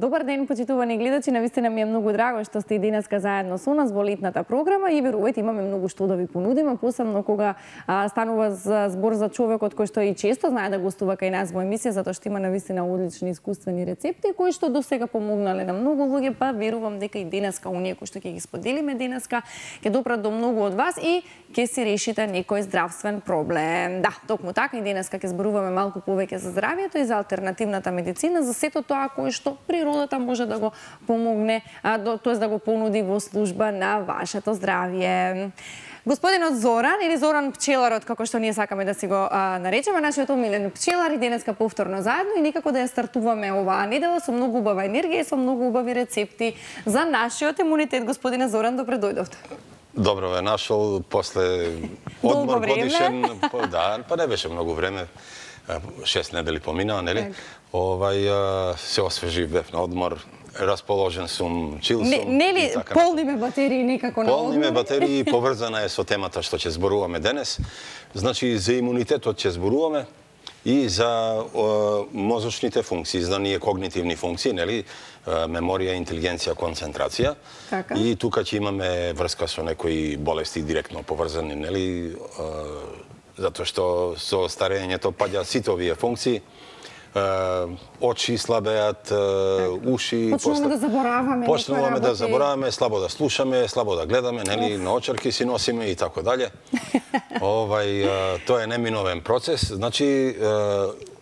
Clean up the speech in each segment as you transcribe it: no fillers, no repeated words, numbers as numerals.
Добар ден, почитувани гледачи, навистина ми е многу драго што сте и денеска заедно со нас во летната програма и верувајте, имаме многу што да ви понудиме, посебно кога станува збор за човекот кој што и често знае да гостува кај нас во емисија, затоа што има навистина одлични искуствени рецепти кои што досега помогнале на многу луѓе, па верувам дека и денеска оние кои што ќе ги споделиме денеска ќе допрат до многу од вас и ќе си решите некој здравствен проблем. Да, токму така и денеска ќе зборуваме малку повеќе за здравието и за алтернативната медицина, за сето тоа кое што природата може да го помогне, тоест да го понуди во служба на вашето здравје. Господинот Зоран, или Зоран пчеларот, како што ние сакаме да си го наречеме, нашиот омилен пчелар и денеска повторно заедно и некако да ја стартуваме оваа недела со многу убава енергија и со многу убави рецепти за нашиот имунитет. Господине Зоран, добре дојдовте. Добро ве нашол после одмор годишен, па не беше многу време. 6 недели поминаа, нели? Се освежив, бев на одмор, расположен сум, чил сум. Нели полниме батерии некако на одмор? Полниме батерии и поврзана е со темата што ќе зборуваме денес. Значи, за имунитетот ќе зборуваме и за мозочните функции, за ние когнитивни функции, нели? Меморија, интелигенција, концентрација. Така. И тука ќе имаме врска со некои болести директно поврзани, нели? Затоа што со старењето паѓа сите овие функции. Очи слабеат, уши... Почнуваме да забораваме, слабо да слушаме, слабо да гледаме, нели, на очерки си носиме и така дале. Тоа е неминовен процес. Значи,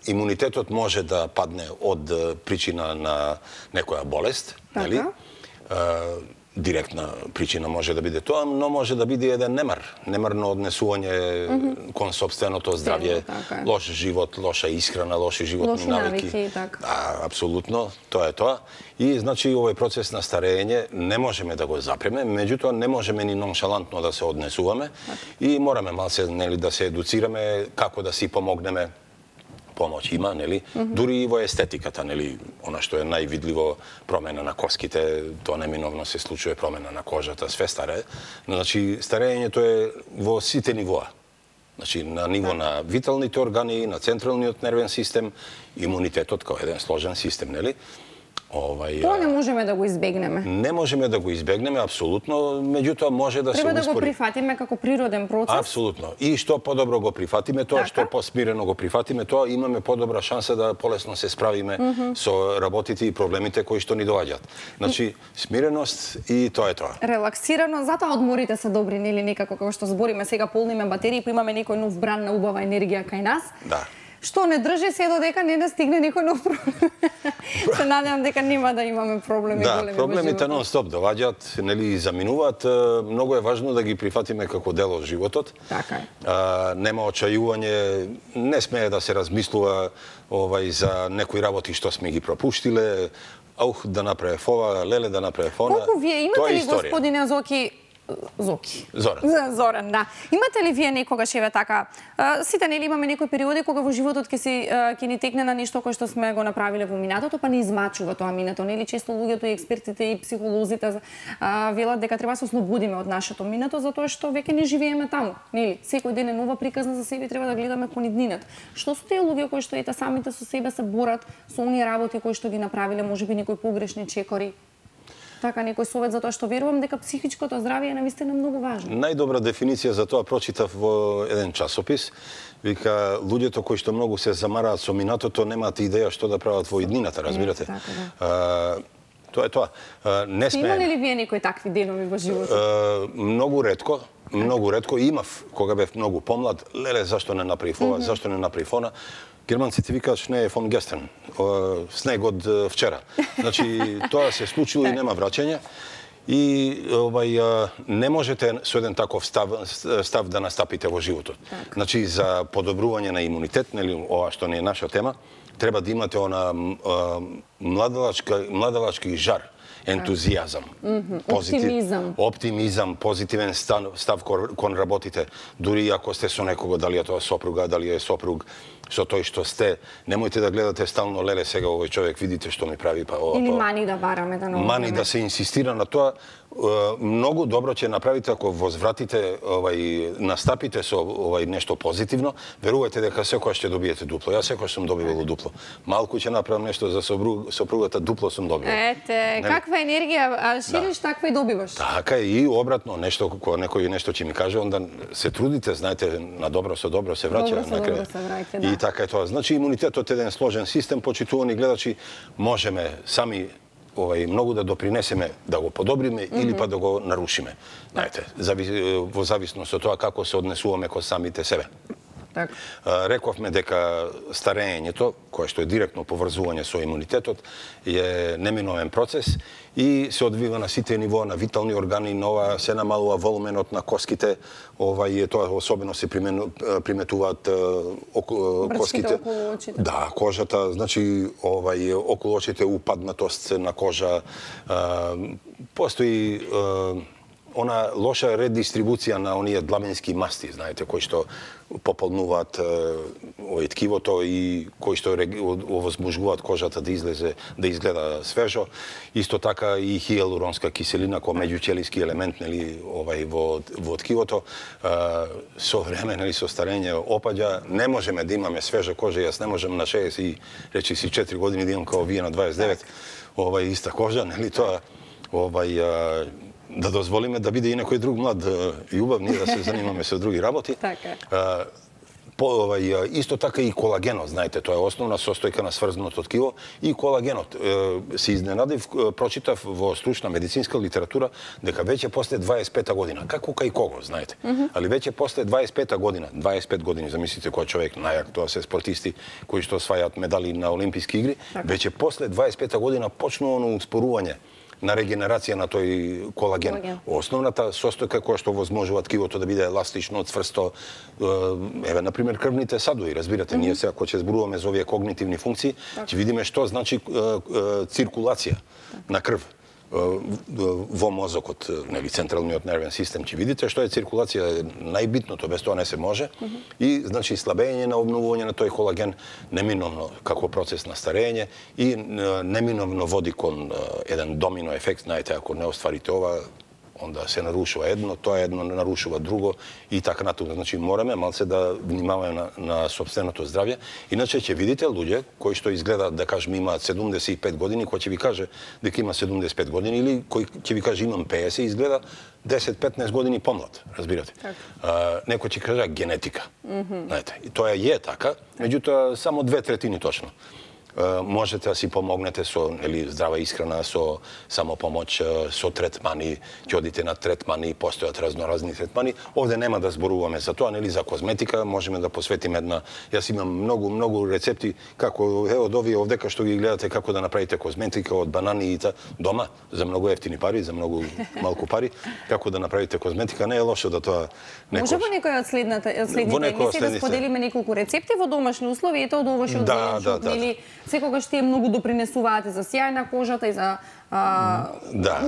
имунитетот може да падне од причина на некоја болест, нели? Директна причина може да биде тоа, но може да биде еден немарно однесување кон сопственото здравје, лош живот, лоша исхрана, лоши животни навики. Апсолутно, тоа е тоа. И значи овој процес на старење не можеме да го запреме, меѓутоа не можеме ни ноншалантно да се однесуваме и мораме малце, нели, да се едуцираме како да си помогнеме. Помоќ има, нели? Дури и во естетиката, нели? Она што е највидливо, промена на коските, тоа неминовно се случува, промена на кожата, све старе. Значи, старењето е во сите нивоа. Значи, на ниво на виталните органи, на централниот нервен систем, имунитетот како еден сложен систем, нели? Тоа не можеме да го избегнеме. Не можеме да го избегнеме, апсолутно, меѓутоа може да се успори. Треба да го прифатиме како природен процес. Апсолутно. И што подобро го прифатиме тоа, што посмирено го прифатиме тоа, имаме подобра шанса да полесно се справиме со работите и проблемите кои што ни доаѓаат. Значи, смиреност и тоа е тоа. Релаксирано, затоа одморите се добри, нели, некако како што збориме сега, полниме батерии, па имаме некој нов бран на убава енергија кај нас. Да. Што не држи се додека не стигне некој нов проблем. Се надевам дека нема да имаме проблеми големи. Да, проблемите нон-стоп доаѓаат, нели, заминуваат. Многу е важно да ги прифатиме како дел од животот. Така е. Нема очајување, не смее да се размислува за некои работи што сме ги пропуштиле. Да направев ова, леле да направев она. Колку вие имате ли, господине Зоран, да. Имате ли вие некогаш, еве така, сите нели имаме некои периоди кога во животот ќе ни текне на нешто кое што сме го направиле во минатото, па не измачува тоа минато, нели? Често луѓето и експертите и психолозите велат дека треба да се ослободиме од нашето минато затоа што веќе не живееме таму, нели? Секој ден е нова приказна за себе, треба да гледаме кон иднината. Што се тие луѓе кои што ета самите со себе се борат со оние работи кои што ги направиле, можеби некои погрешни чекори? Така, некој совет, затоа што верувам дека психичкото здравје е навистина многу важно. Најдобра дефиниција за тоа прочитав во еден часопис. Вика, луѓето кои што многу се замараат со минатото немаат идеја што да прават во иднината, разбирате? Тоа е тоа. Имале ли вие некои такви денови во животот? Многу ретко. Имав, кога бев многу помлад, леле, зашто не направив ова, зашто не направив она. Германците викаат шне е фон гестен, снег од вчера. Значи, тоа се случило и нема враќање. И не можете со еден таков став да настапите во животот. Значи, за подобрување на имунитет, нели, ова што не е наша тема, треба да имате она младалачки жар, ентузијазам, оптимизам, позитивен став кон работите, дури ако сте со некого, дали е тоа сопруга, дали е сопруг, со тој што сте. Немојте да гледате стално, леле сега овој човек видите што ми прави, па ова. Или мани да бараме да ново. Мани да се инсистира на тоа. Многу добро ќе направите ако возвратите, настапите со нешто позитивно. Верувајте дека секогаш ќе добиете дупло. Јас секогаш сум добивал дупло. Малку ќе направам нешто за сопругата, дупло сум добивал. Ете, каква енергија шириш, таква и добиваш. Така и обратно, нешто кога некој нешто ќе ми каже, онда се трудите, знаете, на добро со добро се враќа на крај. И така е тоа. Значи имунитетот е еден сложен систем, почитувани гледачи, можеме сами многу да допринесеме да го подобриме или па да го нарушиме. Знаете, во зависност од тоа како се однесуваме кон самите себе. Рековме дека старењето, кое што е директно поврзување со имунитетот, е неминовен процес и се одвива на сите нивоа на витални органи, нова се намалува волуменот на коските, тоа особено се приметуваат коските. Да, кожата, значи околу очите упаднатост на кожа, постои она лоша редистрибуција на оние длабенски масти, знаете, кои што пополнуваат ткивото и кои што овозможуваат кожата да изгледа свежо. Исто така и хијалуронска киселина кој меѓучелиски елемент во ткивото со време, со старење опаѓа. Не можеме да имаме свежа кожа, јас не можам на 64 години да имам као вие на 29 иста кожа, нели тоа да дозволиме да биде и некој друг млад и убав, ние да се занимаме со други работи. Исто така и колагенот, знаете, тоа е основна состојка на сврзаното ткиво и колагенот. Се изненадив, прочитав во стручна медицинска литература дека веќе после 25-та година, како кај кого, знаете, али веќе после 25-та година, 25 години, замислите кој човек најак, тоа се спортисти кои што освајаат медали на Олимписки игри, веќе после 25-та година почнува успорување на регенерација на тој колаген. Основната состојка која што возможува ткивото да биде еластично, цврсто, еве, например, крвните садови, разбирате, ние сега кога ќе зборуваме за овие когнитивни функции, ќе видиме што значи циркулација на крв во мозокот, нели, централниот нервен систем, ќе видите што е циркулација, најбитното, без тоа не се може, и значи слабење на обновување на тој колаген неминовно како процес на старење и неминовно води кон еден домино ефект, знаете, ако не остварите ова, онда се нарушува едно, тоа едно нарушува друго и така натаму. Значи мораме малце да внимаваме на сопственото здравје, иначе ќе видите луѓе кои што изгледаат да кажеме имаат 75 години, кој ќе ви каже дека има 75 години или кој ќе ви каже имам 50, изгледа 10-15 години помлад, разбирате. Некој ќе каже генетика. Знаете, и тоа е така, меѓутоа само 2/3 точно. Можете да си помогнете со здрава исхрана, со самопомоќ, со третмани, ќе одите на третмани, постојат разноразни третмани. Овде нема да зборуваме за тоа, за козметика, можеме да посветиме една. Јас имам многу рецепти како од овие овдека што ги гледате како да направите козметика од банани и дома за многу ефтини пари, за многу малку пари, како да направите козметика, не е лошо да тоа Може во некој од следните емисии да споделиме неколку рецепти во домашни услови, ето од ово што одделен секогаш тие многу допринесуваат за сјај на кожата и за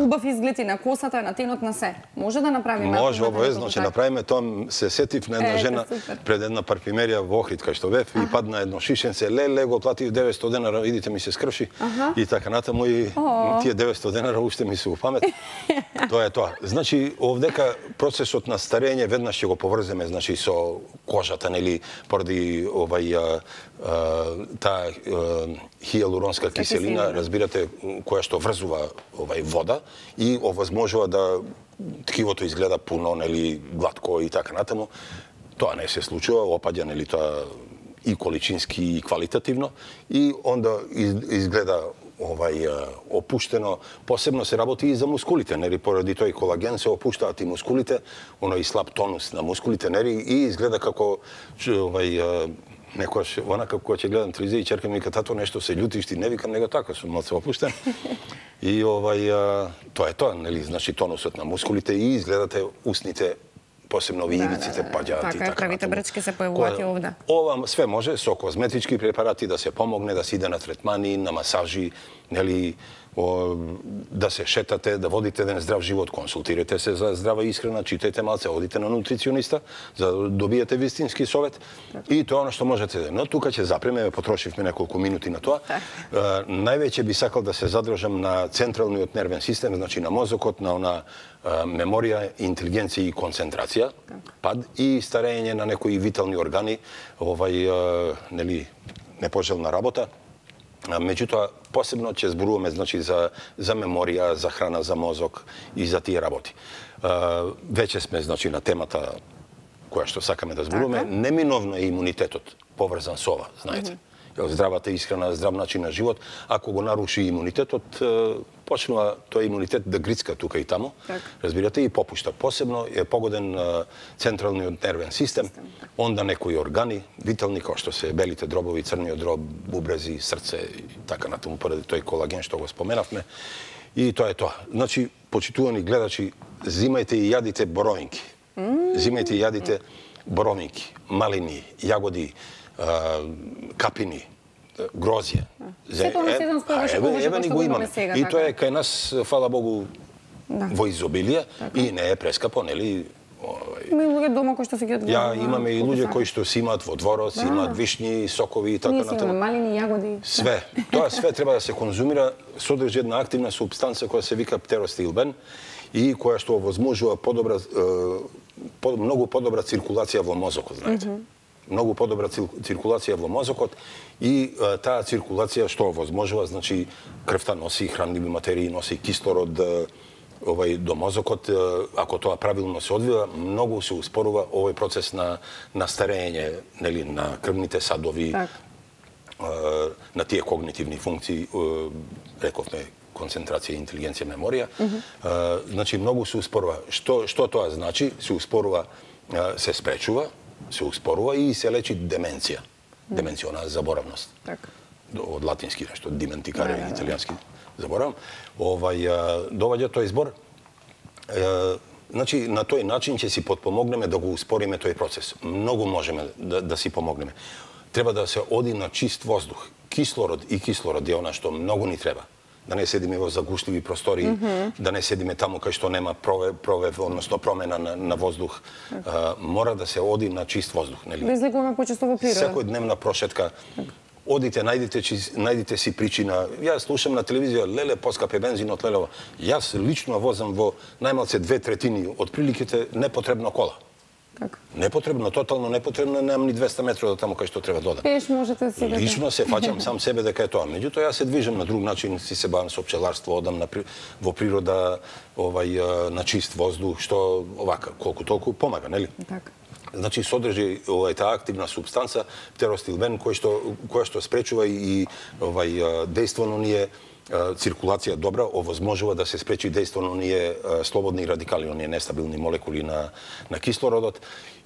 убав изглед и на косата, на тенот, на се. Може да направиме? Може, обавезно ќе направиме. Тоа се сетив на една жена пред една парфимерија во Охрид, кај што бев, и падна едно шишенце, леле, го платив 900 денара, видите ми се скрши, и така натаму, и тие 900 денара уште ми се у памет. Тоа е тоа. Значи, овдека процесот на старење веднаш ќе го поврземе, значи, со кожата, нели, поради таа хијалуронска киселина, разбирате, која што врзува вода и овозможува да ткивото изгледа пуно, нели, гладко и така натаму. Тоа не се случува, опаѓа, нели, тоа и количински и квалитативно, и онда изгледа опуштено. Посебно се работи и за мускулите, нели, поради тој колаген се опуштаат и мускулите, оној слаб тонус на мускулите, нели, и изгледа како некојаш, онака кога ќе гледам телевизија и черка ми вика, тато нешто се љутиш, ти не викам, него така, сум малце опуштен. И тоа е тоа, нели, значи тонусот на мускулите и изгледате устните, посебно ивиците паѓаат и така. Правите брчки се појавуваат и овде. Ова све може со козметички препарати да се помогне, да се иде на третмани, на масажи, нели, да се шетате, да водите еден здрав живот, консултирате се за здрава исхрана, читајте малце, одите на нутрициониста, за да добиете вистински совет и тоа што можете. Но тука ќе запреме, потрошивме неколку минути на тоа. Највеќе би сакал да се задржам на централниот нервен систем, значи на мозокот, на она меморија, интелигенција и концентрација, пад и старење на некои витални органи, нели, непожелна работа. Меѓутоа, посебно ќе зборуваме значи, за меморија, за храна, за мозок и за тие работи. Веќе сме значи, на темата која што сакаме да зборуваме. Неминовно е имунитетот поврзан со ова, знаете. Здравата исхрана, здрав начин на живот, ако го наруши имунитетот, почнува тој имунитет да грицка тука и таму, разбирате, и попушта. Посебно е погоден централниот нервен систем, онда некои органи, витални, како што се белите дробови, црниот дроб, бубрези, срце и така натаму, поради тој колаген што го споменавме. И тоа е тоа. Значи, почитувани гледачи, зимајте и јадите боровинки. Зимајте и јадите боровинки, малини, јагоди, капини, грозје. Сето на сезонско еве ни го имаме. И тоа е кај нас, фала Богу, во изобилие и не е прескапо, нели? Има луѓе дома кои што се ги одгледат. Ја имаме и луѓе кои што си имаат во дворот, си имаат вишни, сокови и така натаму. Ние си имаме малини, јагоди. Све. Тоа све треба да се конзумира, содржи една активна супстанца која се вика птеростилбен и која што овозможува многу подобра циркулација во мозокот, знаете. Многу подобра циркулација во мозокот и таа циркулација што овозможува, значи крвта носи хранливи материи, носи кислород до мозокот, ако тоа правилно се одвива, многу се успорува овој процес на старење, нели, на крвните садови, на тие когнитивни функции, рековме концентрација, интелигенција, меморија. Значи многу се успорува. Што тоа значи? Се успорува, се спречува, се успорува и се лечи деменција. Деменциона заборавност. Од латински нешто, dimenticarе, италијански заборавам. Доваѓа тој збор. Значи, на тој начин ќе си потпомогнеме да го успориме тој процес. Многу можеме да си помогнеме. Треба да се оди на чист воздух. Кислород е она што многу ни треба. Да не седиме во загушливи простори, да не седиме таму кај што нема провев, односно промена на воздух. Мора да се оди на чист воздух, нели? Да излегуваме почесто во природа. Секојдневна прошетка. Одите, најдите си причина. Јас слушам на телевизија, леле, поскапе бензинот, леле. Јас лично возам во најмалце 2/3 од приликите непотребно кола. Непотребно, тотално непотребно, немам ни 200 метра до таму кај што треба да одам. Пеш можете си да... Лично се фаќам сам себе дека е тоа. Меѓутоа, јас се движам на друг начин, си се бавам со пчеларство, одам во природа, на чист воздух, што овака, колку толку помага, нели? Така. Значи, содржи таа активна субстанца, птеростилбен, која што спречува и дејствено ние циркулација добра, овозможува да се спречи дејствено оние слободни радикали, оние нестабилни молекули на кислородот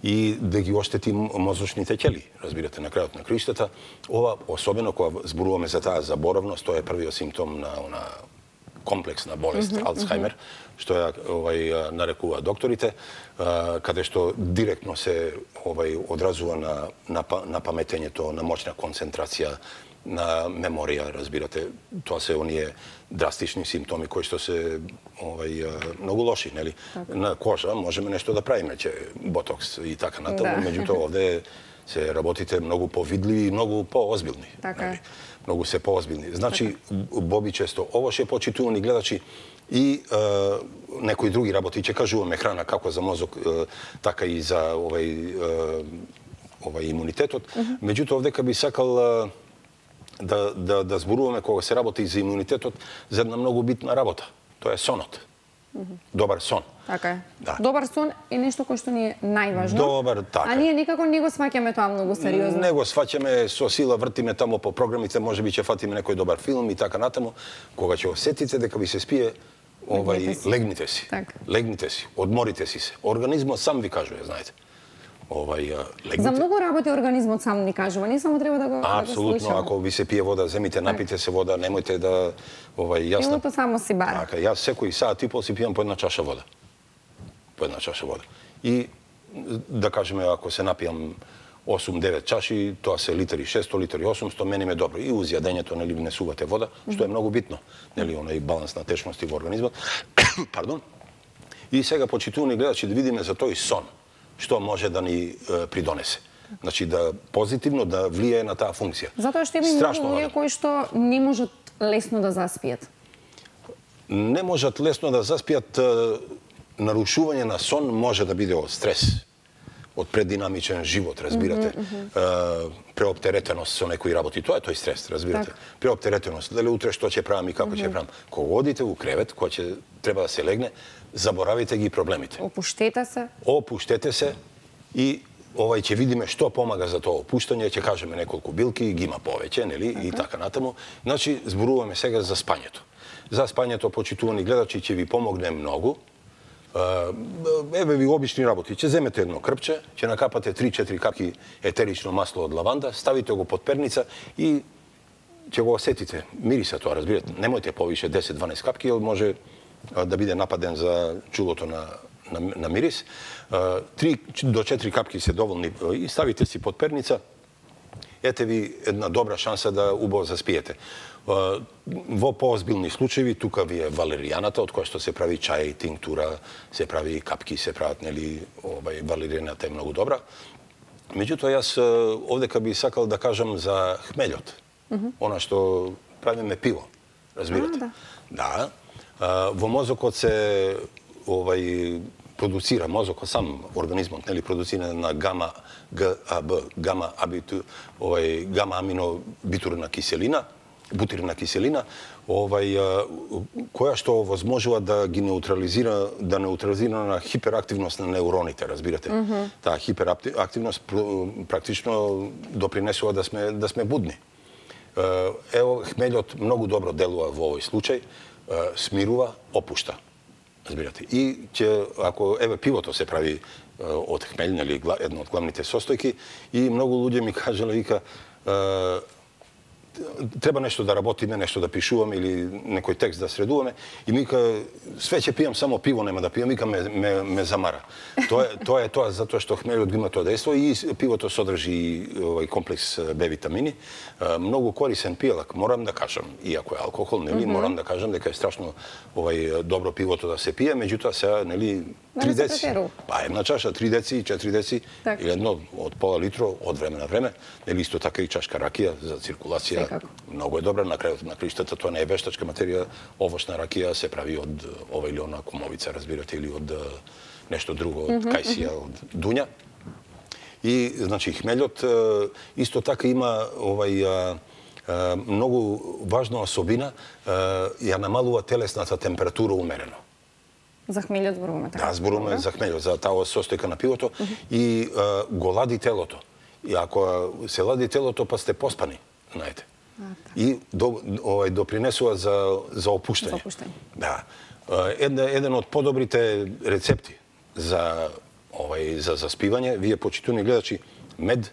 и да ги оштети мозочните ќели, разбирате, на крајот на краиштата. Ова, особено кога зборуваме за таа заборавност, тоа е првиот симптом на она комплексна болест, Алцхаймер, што ја нарекува докторите, каде што директно се одразува на паметењето, на моќна концентрација, на меморија, разбирате. Тоа се оние драстични симптоми кои што се многу лоши, нели? На кожа можеме нешто да правиме, ботокс и така натаму, меѓутоа овде се работите многу повидливи и многу поозбилни. Многу се поозбилни. Значи, бобичесто, ово ше почитувани гледачи и некои други работи, ќе кажуваме храна како за мозок, така и за имунитетот. Меѓутоа, овдека би сакал да зборуваме кога се работи за имунитетот за една многу битна работа. Тоа е сонот. Добар сон. Така е. Добар сон е нешто кое што ни е најважно. Добар, така. А ние никако не го сваќаме тоа многу сериозно. Не го сваќаме, со сила вртиме таму по програмите, можеби ќе фатиме некој добар филм и така натаму. Кога ќе осетите дека ви се спие, легнете си. Легнете си, одморите си се. Организмот сам ви кажува, знаете. За многу работи организмот сам ни кажува, не само треба да го слушаме. Апсолутно, ако ви се пие вода, земите, напите се вода, немојте да јасно. Телото само си бара. Така, јас секој саат и пол си пијам по една чаша вода. По една чаша вода. И да кажеме, ако се напијам 8-9 чаши, тоа се литри 600, литри 800, мене ме добро. И уз јадењето, нели, внесувате вода, што е многу битно, нели, онај баланс на течности во организмот. Пардон. И сега, почитувани гледачи, да видиме за тој сон, што може да ни придонесе. Значи, да позитивно да влијае на таа функција. Затоа што има многу луѓе кои што не можат лесно да заспијат. Не можат лесно да заспијат. Нарушување на сон може да биде од стрес, од прединамичен живот, разбирате. Преоптеретеност со некои работи, тоа е тој стрес, разбирате. Преоптеретеност, дали утре што ќе правам и како ќе правам. Кога одите у кревет, кога ќе треба да се легне, заборавите ги проблемите. Опуштете се. Опуштете се и ќе видиме што помага за тоа опуштање, ќе кажеме неколку билки, ги има повеќе, нели, и така натаму. Значи, зборуваме сега за спањето. За спањето, почитувани гледачи, ќе ви помогне многу. Еве ви обични работи. Ќе земете едно крпче, ќе накапате 3-4 капки етерично масло од лаванда, ставите го под перница и ќе го осетите. Мириса тоа, разбирате. Немојте повише 10-12 капки, може да биде нападен за чулото на мирис. 3 до 4 капки се доволни и ставите си под перница. Ете ви една добра шанса да убаво заспиете. Во поозбилни случаи, тука ви е валеријаната, од која што се прави чај, тинктура, се прави капки, се прават, нели, валеријаната е многу добра. Меѓутоа, јас овдека би сакал да кажам за хмелјот. Она што правиме пиво, разбирате? Да. Во мозокот се продуцира, мозокот сам, организмот, нели, продуцира на гама аминобутирна киселина, која што возможува да ги неутрализира на хиперактивност на неуроните, разбирате. Таа хиперактивност практично допринесува да сме будни. Ево, хмелјот многу добро делува во овој случај, смирува, опушта. Разбирате. И ако еве пивото се прави од хмелј, нели, едно од главните состојки, и многу луѓе ми кажале, вика, треба нешто да работиме, нешто да пишуваме или некој текст да средуваме, и ми вика, све ќе пијам, само пиво нема да пијам, вика, ме замара. Тоа е тоа затоа што хмелјот има тоа дејство и пивото содржи комплекс Б витамини. Многу корисен пијалак, морам да кажам, иако е алкохол, нели, морам да кажам дека е страшно добро пивото да се пие, меѓутоа сега, нели, 3 деци. Па една чаша, 3 деци, 4 деци, или едно од пола литро од време на време, нели, исто така и чашка ракија за циркулација. Многу е добра, на крајот на криштата, тоа не е вештачка материја, овошна ракија се прави од ова или она комовица, разбирате, или од нешто друго, од кајсија, од дуња. И, значи, хмелјот исто така има многу важна особина, ја намалува телесната температура умерено. За хмелјот зборуваме така? Да, зборуваме за хмелјот, за таа состојка на пивото и го лади телото. И ако се лади телото, па сте поспани, знаете. И допринесува за опуштање. Да. Еден од подобрите рецепти за заспивање, вие почитувани гледачи, мед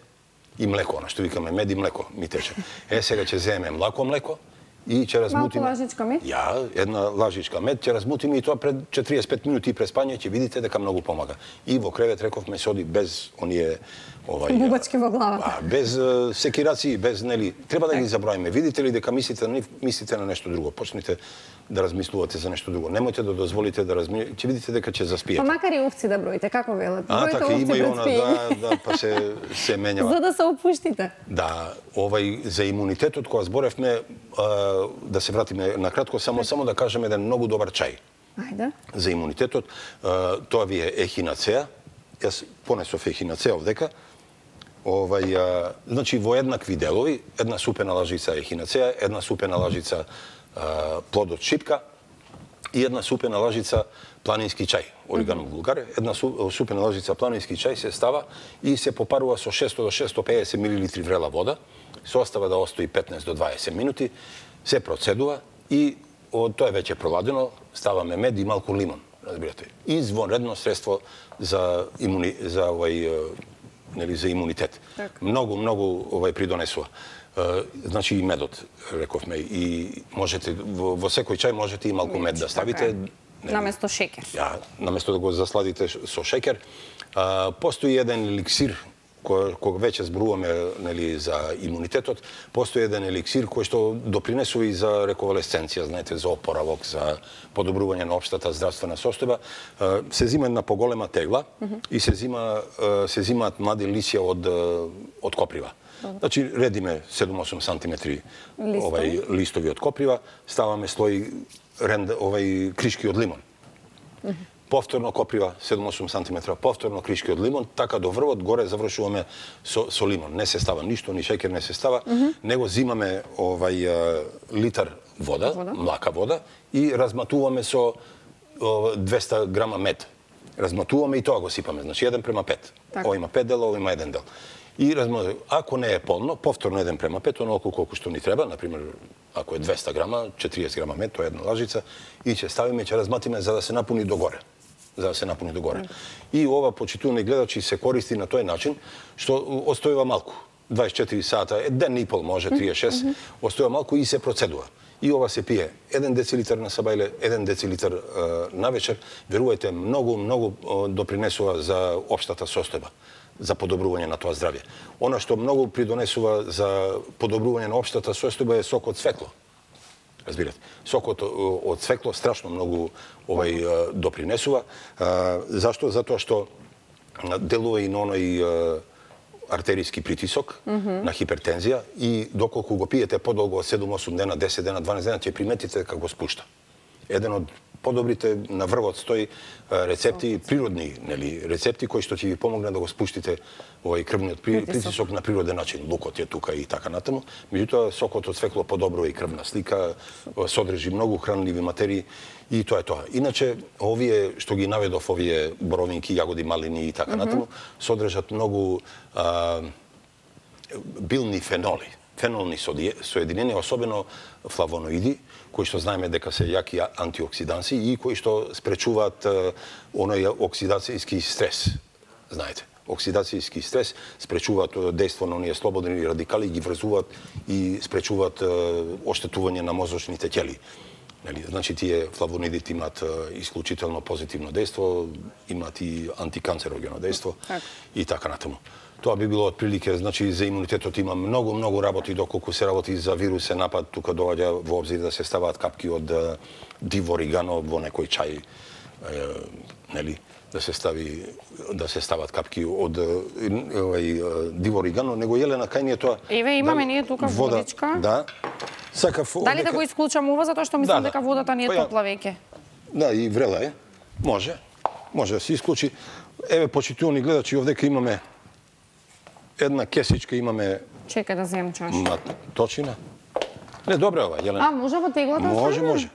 и млеко, на што викаме мед и млеко ми тече. Сега ќе земеме млеко и ќе размутиме. Малку лажичка мед? Ја, една лажичка мед, ќе размутиме и тоа пред 45 минути пред спање ќе видите дека многу помага. И во кревет рековме се оди без оние бубачки во главата. Без секираци, без, нели, треба да ги забравиме. Видите ли дека мислите на нешто друго, почнете да размислувате за нешто друго. Немојте да дозволите да размислувате, ќе видите дека ќе заспиете. Па макар и овци да броите, како велат? Така има и она, да, па се менјава. За да се опуштите. Да, за имунитетот кога зборевме, да се вратиме на кратко, само да кажеме еден многу добар чај. Ајде. За имунитетот, тоа ви е ехинацеа. Јас понесов ехинацеа овдека. Значи, во еднакви делови, една супена лажица ехинацеа, една супена лажица плодот шипка и една супена лажица планински чај, орегано вулгар. Една супена лажица планински чај се става и се попарува со 600 до 650 мл врела вода, се остава да остои 15 до 20 минути, се процедува и тоа е веќе проладено, ставаме мед и малку лимон, разбирате. Извонредно средство за имунитет. Многу придонесува. Значи и медот, рековме, и можете во секој чај можете и малку мед да ставите. Наместо шеќер. Наместо да го засладите со шеќер. Постои еден еликсир кога веќе зборуваме нели за имунитетот, постои еден еликсир кој што допринесува и за реконвалесценција, знаете, за опоравок, за подобрување на општата здравствена состојба. Се зима една поголема тегла и се зимаат млади лисја од коприва. Значи, редиме 7-8 сантиметри листови од коприва, ставаме слој кришки од лимон. Повторно коприва 7-8 сантиметра, повторно кришки од лимон, така до врвот горе завршуваме со лимон. Не се става ништо, ни шеќер не се става, него зимаме литар вода, млака вода и разматуваме со 200 грама мед. Разматуваме и тоа го сипаме, значи 1:5. Ово има 5 дела, ово има 1 дел. И ако не е полно, повторно 1:5, онолку колку што ни треба, например, ако е 200 грама, 40 грама мед, тоа е една лажица, и ќе ставиме, ќе разматиме за да се напуни догоре. И ова, почитувани гледачи, се користи на тој начин, што остојува малку. 24 сата, ден и пол може, 36, остојува малку и се процедува. И ова се пие 1 децилитар на сабајле, 1 децилитар на вечер. Верувајте, многу допринесува за општата состојба, за подобрување на тоа здравје. Она што многу придонесува за подобрување на општата состојба е сок од цвекло. Разбирате, сокот од цвекло страшно многу допринесува. Зашто? Затоа што делува и на оној артериски притисок, на хипертензија, и доколку го пиете подолго од 7-8 дена, 10 дена, 12 дена, ќе приметите како го спушта. Еден од подобрите на врвот стои рецепти, природни рецепти кои што ќе ви помогнат да го спуштите крвниот притисок на природен начин. Лукот е тука и така натаму. Меѓутоа, сокот од цвекло подобрува и крвна слика, содржи многу хранливи материи и тоа е тоа. Иначе, овие што ги наведов, овие боровинки, јагоди, малини и така натаму, содржат многу билни феноли, фенолни соединенија, особено флавоноиди, кои што знаеме дека се јаки антиоксиданси и кои што спречуваат оној оксидацијски стрес. Знаете, оксидацијски стрес спречуваат дејство на оние слободни радикали, ги врзуваат и спречуваат оштетување на мозочните ќели. Значи, тие флавоноидите имаат исклучително позитивно дејство, имаат и антиканцерогено дејство и така натаму. Тоа би било отприлике, значи за имунитетот има многу работи, доколку се работи за вирусен напад, тука доаѓа во обзир да се ставаат капки од диво оригано во некој чај, нели, да се стават капки од диво оригано, него Елена кај ние тоа. Еве имаме ние тука водичка. Да. Сакав. Дали да го исклучам ова затоа што мислам дека водата не е топла веќе? Да, и врела е. Може да се исклучи. Еве, почитувани гледачи, овдека имаме една кесичка, имаме... Чекај да земам чаша. Маточина. Не, добре ова, Јелена. Може во теглата? Може.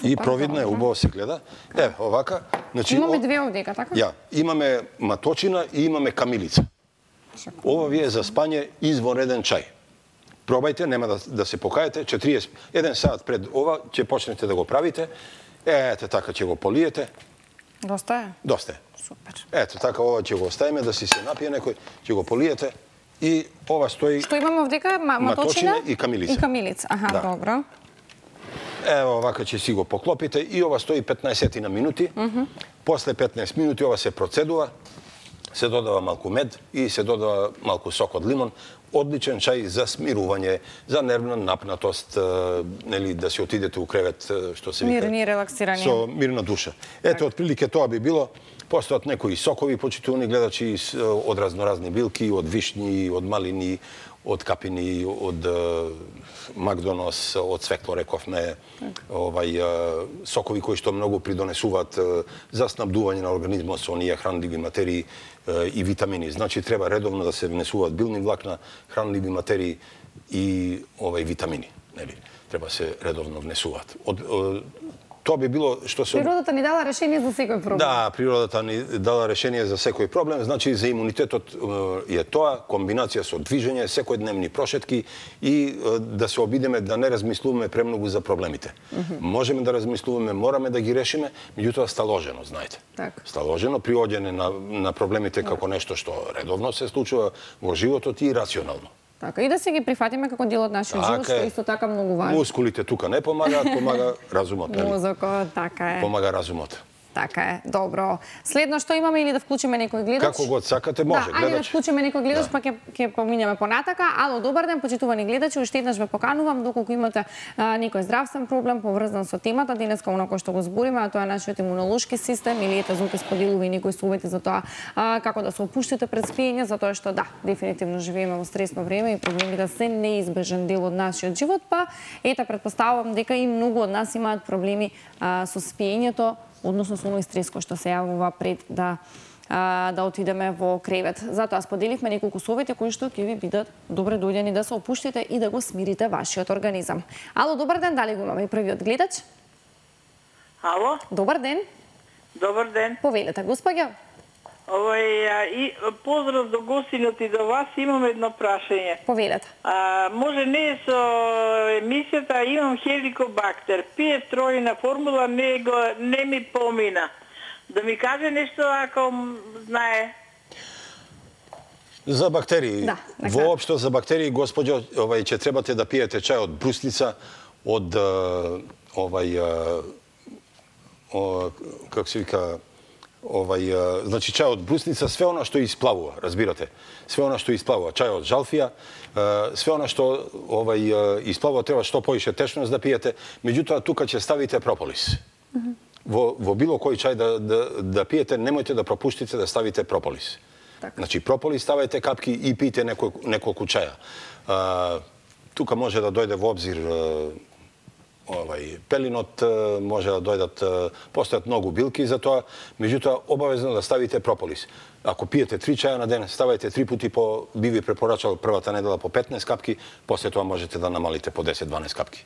И провидна е, убаво се гледа. Еве, овака. Имаме две овдека, така? Ја, имаме маточина и имаме камилица. Ова ви е за спање извонреден чај. Пробајте, нема да се покаете, 41 сат пред ова ќе почнете да го правите. Ете, така ќе го полиете. Доста е? Доста е. Супер. Ето, така ова ќе го оставиме да си се напие некој, ќе го полиете и ова стои... Што имаме овдека? Маточина и камилица. И камилица, добро. Ево, овака ќе си го поклопите и ова стои 15 минути. После 15 минути ова се процедува, се додава малку мед и се додава малку сок од лимон. Одличен чај за смирување, за нервна напнатост, нели, да си отидете у кревет, што се вика... Мирни, релаксирани. Со мирна душа. Ето, отприлике тоа би било. Постојат некои сокови, почитувани гледачи, од разноразни билки, од вишни, од малини, од капини, од Макдонос, од цвекло, рековме, сокови кои што многу придонесуваат за снабдување на организмот со оние хранливи материи и витамини. Значи, треба редовно да се внесуваат билни влакна, хранливи материи и витамини. Треба се редовно внесуваат. Тоа би било што се... Природата ни дала решение за секој проблем. Да, природата ни дала решение за секој проблем. Значи, за имунитетот е тоа, комбинација со движење, секојдневни прошетки и да се обидеме да не размислуваме премногу за проблемите. Можеме да размислуваме, мораме да ги решиме, меѓутоа сталожено, знаете. Сталожено, приоѓање на проблемите како нешто што редовно се случува во животот и рационално. Така, и да се ги прифатиме како дел од нашиот живот, што исто така многу важно. Мускулите тука не помагаат, помага разумот, нели? Мозокот, така е. Помага разумот. така е. Добро. Следно што имаме или да вклучиме некој гледач? Како го сакате, може гледач. Ајде да вклучиме некој гледач, па ќе поминеме понатака. Ало, добар ден, почитувани гледачи, уште еднаш ве поканувам доколку имате некој здравствен проблем поврзан со темата денеска онако што го збориме, а тоа е нашиот имунолошки систем, или ете Зоки споделува и некои совети за тоа како да се опуштите пред спиење, затоа што да, дефинитивно живееме во стресно време и проблемите се неизбежен дел од нашиот живот, па ете претпоставувам дека и многу од нас имаат проблеми со спиењето, односно со оној стрес кој што се јавува пред да отидеме во кревет. Затоа споделивме неколку совети кои што ќе ви бидат добре дојдени да се опуштите и да го смирите вашиот организам. Ало, добар ден, дали го имаме и првиот гледач? Ало? Добар ден. Добар ден. Повелете, господја. Поздрав до гостинот и до вас, имам едно прашање. Повелете. Може не со емисијата, имам хеликобактер. Пие тројна формула, не ми помина. Да ми каже нешто ако знае. За бактерии. Да, воопшто за бактерии, господјо, ќе требате да пиете чај од брусница, од како се вика, значи чај од брусница, све она што исплавува, разбирате. Све она што исплавува, чај од жалфија, све она што исплавува, треба што поише течност да пиете, меѓутоа тука ќе ставите прополис. Во било кој чај да пиете, немојте да пропуштите да ставите прополис. Значи прополис ставајте капки и пиете неколку чаја. Тука може да дојде во обзир пелинот, може да дојдат, постојат многу билки за тоа, меѓутоа обавезно да ставите прополис. Ако пиете 3 чаја на ден, ставајте 3 пати би ви препорачал првата недела по 15 капки, после тоа можете да намалите по 10-12 капки.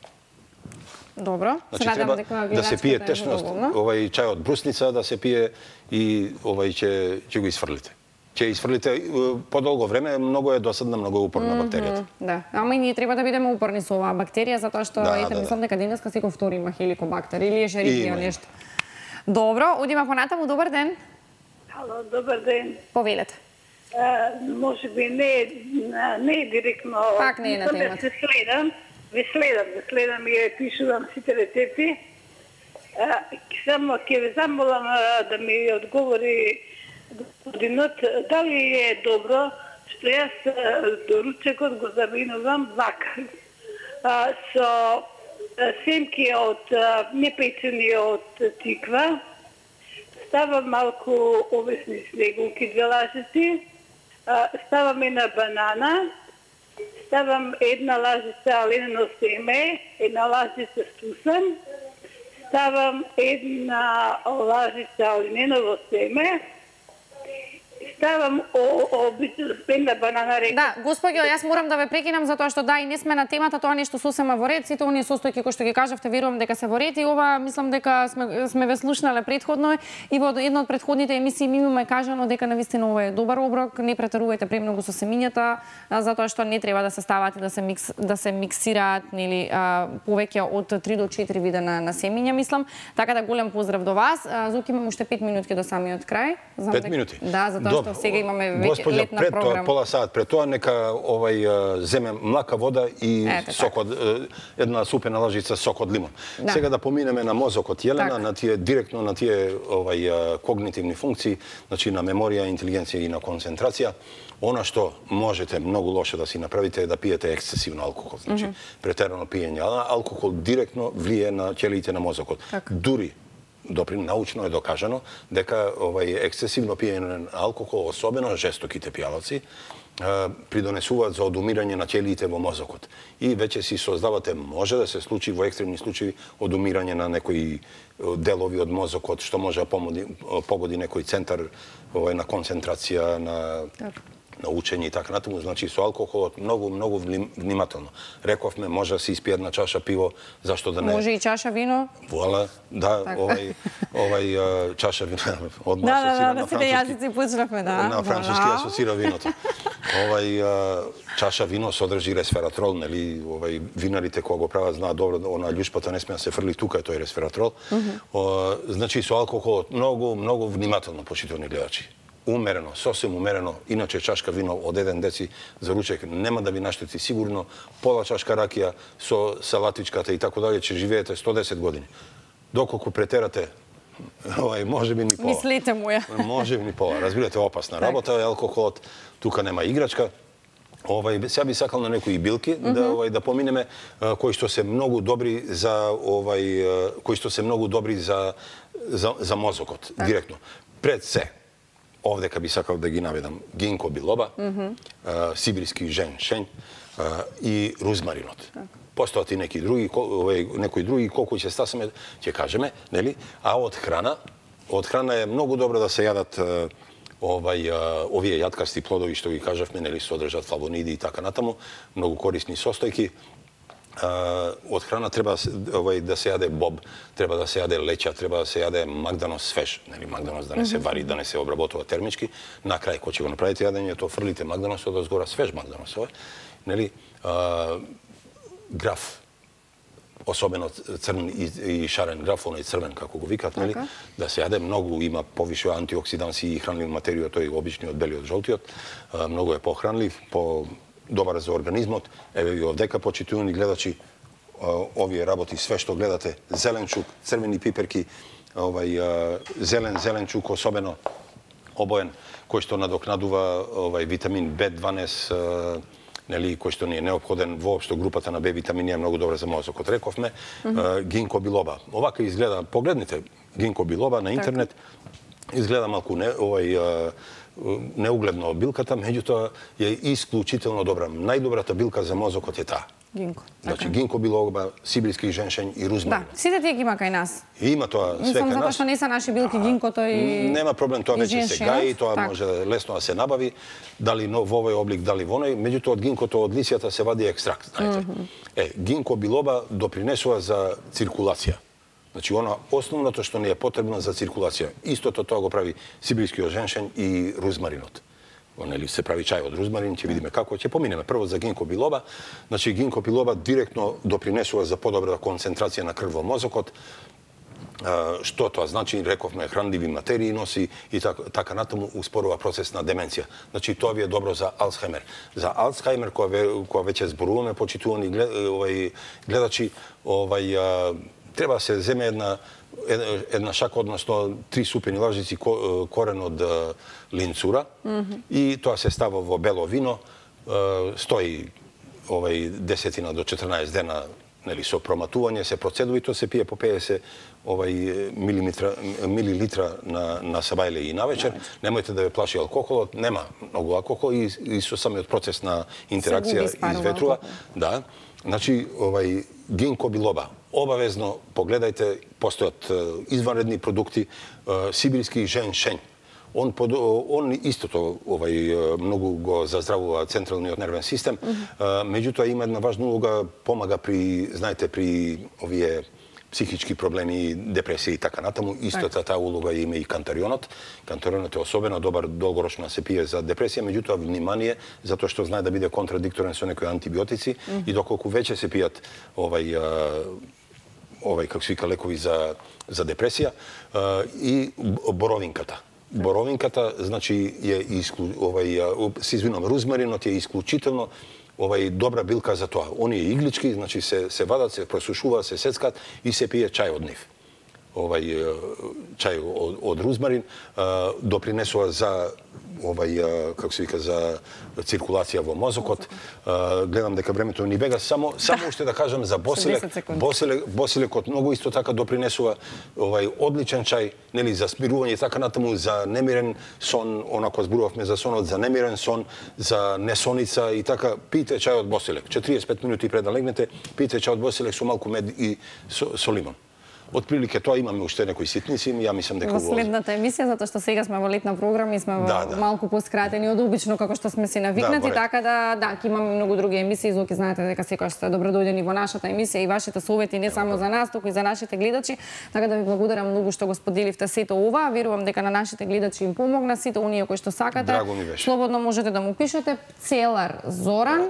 Добро. Значи треба да се пие течност, чај од брусница да се пие и ќе го исфрлите. Ќе исфрлите подолго време, многу е досадна, многу е упорна бактеријата. Да, ама и ние треба да бидеме упорни со оваа бактерија, затоа што мислам дека денеска секој втори има хеликобактер или ешерихија нешто. Добро, одиме понатаму, добар ден. Ало, добар ден. Повелете. Може би не е директно. Пак не е на темата. Ви следам и пишувам сите рецепти. Само ќе ве замолам да ми одговори господинот, дали е добро што јас доручекот го заминувам вака. Со семки од непечени од тиква, ставам малку овесни снегулки, 2 лажици, ставам една банана, ставам една лажица ленено семе, една лажица сусан, ставам една лажица лененово семе, ставам една банана река. Да, господјо, јас морам да ве прекинам затоа што да и не сме на темата, тоа нешто сосема во ред, сите оние состојки кои што ги кажавте, верувам дека се во ред и ова мислам дека сме ве слушнале претходно и во една од претходните емисии ми имаме кажано дека навистина ова е добар оброк, не претерувајте премногу со семињата, затоа што не треба да се стават и да се миксираат нели повеќе од 3 до 4 вида на семиња, мислам. Така да голем поздрав до вас. Зоки, имам уште 5 минутки до самиот крај. 5 минути. Да, затоа што сега имаме веќе летна програма. Господја, пола саат пред тоа нека земе млака вода и сок од една супена лажица сок од лимон. Сега да поминеме на мозокот Јелена, на тие директно на тие когнитивни функции, значи на меморија, интелигенција и на концентрација. Она што можете многу лошо да си направите е да пиете ексцесивно алкохол, значи претерано пиење. Алкохол директно влие на ќелиите на мозокот. Дури научно е докажано дека ексцесивно пиење на алкохол, особено жестоките пијалаци, придонесуваат за одумирање на ќелиите во мозокот. И веќе си создавате, може да се случи во екстремни случаи, одумирање на некои делови од мозокот, што може да погоди некој центар на концентрација, на учење и така натаму. Значи со алкохолот многу внимателно. Рековме, може да се испие една чаша пиво, зашто да не... Може и чаша вино? Вуала, да, чаша вино одма асоцира на француски. Да, јазици почнавме, да. На француски асоцира виното. Чаша вино содржи ресвератрол, нели? Винарите кога го прават знаат добро, она љушпата не смее да се фрли тука, тој ресвератрол. Значи со алкохолот многу внимателно, почитувани гледачи. Умерено, сосем умерено, иначе чашка вино од 1 деци за ручек нема да ви наштети сигурно, пола чашка ракија со салатичката и така дале, ќе живеете 110 години. Доколку претерате Може би ни пола. Мислете му ја. Може би ни пола. Разбирате, опасна работа, алкохолот, тука нема играчка. Сега би сакал на некои билки да поминеме кои што се многу добри за за мозокот директно. Пред се овдека би сакал да ги наведам гинко билоба, сибирски женшен и рузмаринот. Постојат и некои други, колку ќе стасаме, ќе кажеме, нели? А од храна е многу добро да се јадат овие јаткасти плодови што ги кажавме, нели, содржат флавониди и така натаму, многу корисни состојки. Од храна треба да се јаде боб, треба да се јаде леќа, треба да се јаде магданос свеж, нели, магданос да не се вари, да не се обработува термички. На крај кога ќе го направите јадењето, фрлите магданосот од згора, свеж магданос, нели, граф, особено црн и шарен граф, оној црвен како го викат, нели, да се јаде, многу има повише антиоксиданси и хранлив материја, тој обичниот белиот жолтиот, многу е похранлив, добар за организмот. Еве ви овдека, почитувани гледачи, овие работи, све што гледате, зеленчук, црвени пиперки, зеленчук особено обоен, кој што надокнадува витамин B12, нели, кој што ни е неопходен воопшто, групата на Б витамини е многу добра за мозокот. Рековме гинко билоба. Овака изгледа, погледнете гинко билоба на интернет, изгледа малку неугледно билката, меѓутоа е исклучително добра. Најдобрата билка за мозокот е таа. Гинко. Значи гинко билоба, сибирски женшен и рузмарин. Да, сите тие ги има кај нас. Има тоа све кај нас. Само затоа што не се наши билки гинкото и нема проблем, тоа веќе се гаи, тоа може лесно да се набави, дали во овој облик, дали во оној, меѓутоа од гинкото, од лисијата се вади екстракт, знаете. Гинко билоба допринесува за циркулација. Значи, основното што ни е потребно за циркулација. Истото тоа го прави сибирскиот женшен и рузмаринот. Нели, се прави чај од рузмарин, ќе видиме како, ќе поминеме прво за гинко билоба. Значи, гинко билоба директно допринесува за подобра концентрација на крв во мозокот. Што тоа значи, рековме, хранливи материи носи и така натаму успорува процес на деменција. Значи, тоа ви е добро за Алцхаймер. За Алцхаймер, која веќе зборуваме, почитувани гледачи, треба да се земе една шака, односно 3 супени лажици корен од линцура и тоа се става во бело вино, стои 10 до 14 дена, нели, со проматување, се процедува и тоа се пие по 50 милилитра на сабајле и навечер. Немојте да ве плаши алкохолот, нема многу алкохол и со самиот процес на интеракција изветрува. Да. Значи, гинко билоба. Обавезно погледајте, постојат изванредни продукти, сибирски женшен. Он истото многу го заздравува централниот нервен систем, меѓутоа има една важна улога, помага при, знаете, при овие психички проблеми, депресија и така натаму. Истата таа улога има и кантарионот. Кантарионот е особено добар долгорочно се пие за депресија, меѓутоа внимание, затоа што знае да биде контрадикторен со некои антибиотици и доколку веќе се пијат како се вика, лекови за депресија, и боровинката. Боровинката, значи, се извинувам, рузмаринот е исклучително добра билка за тоа. Оние иглички, значи, се вадат, се просушуваат, се сецкат и се пие чај од нив. Чај од рузмарин допринесува за како се вика, за циркулација во мозокот. Гледам дека времето ни бега, само уште да кажам за боселек. Боселекот многу исто така допринесува одличен чај, нели, за спирување и така натаму, за немирен сон, онако зборувавме за сонот, за немирен сон, за несоница и така. Пијте чај од боселек. 45 минути пред да легнете, пијте чај од боселек со малку мед и со лимон. Отприлике тоа, имаме уште некои ситници, ја мислам дека во следната емисија, затоа што сега сме во летна програма и сме малку поскратени од обично како што сме си навикнати, така да ќе имаме многу други емисии, зоки знаете дека секогаш сте добродојдени во нашата емисија и вашите совети не само за нас, туку и за нашите гледачи, така да ви благодарам многу што го споделивте сето ова. Верувам дека на нашите гледачи им помогна, сите оние кои што сакате. Слободно можете да му пишете Целар Зоран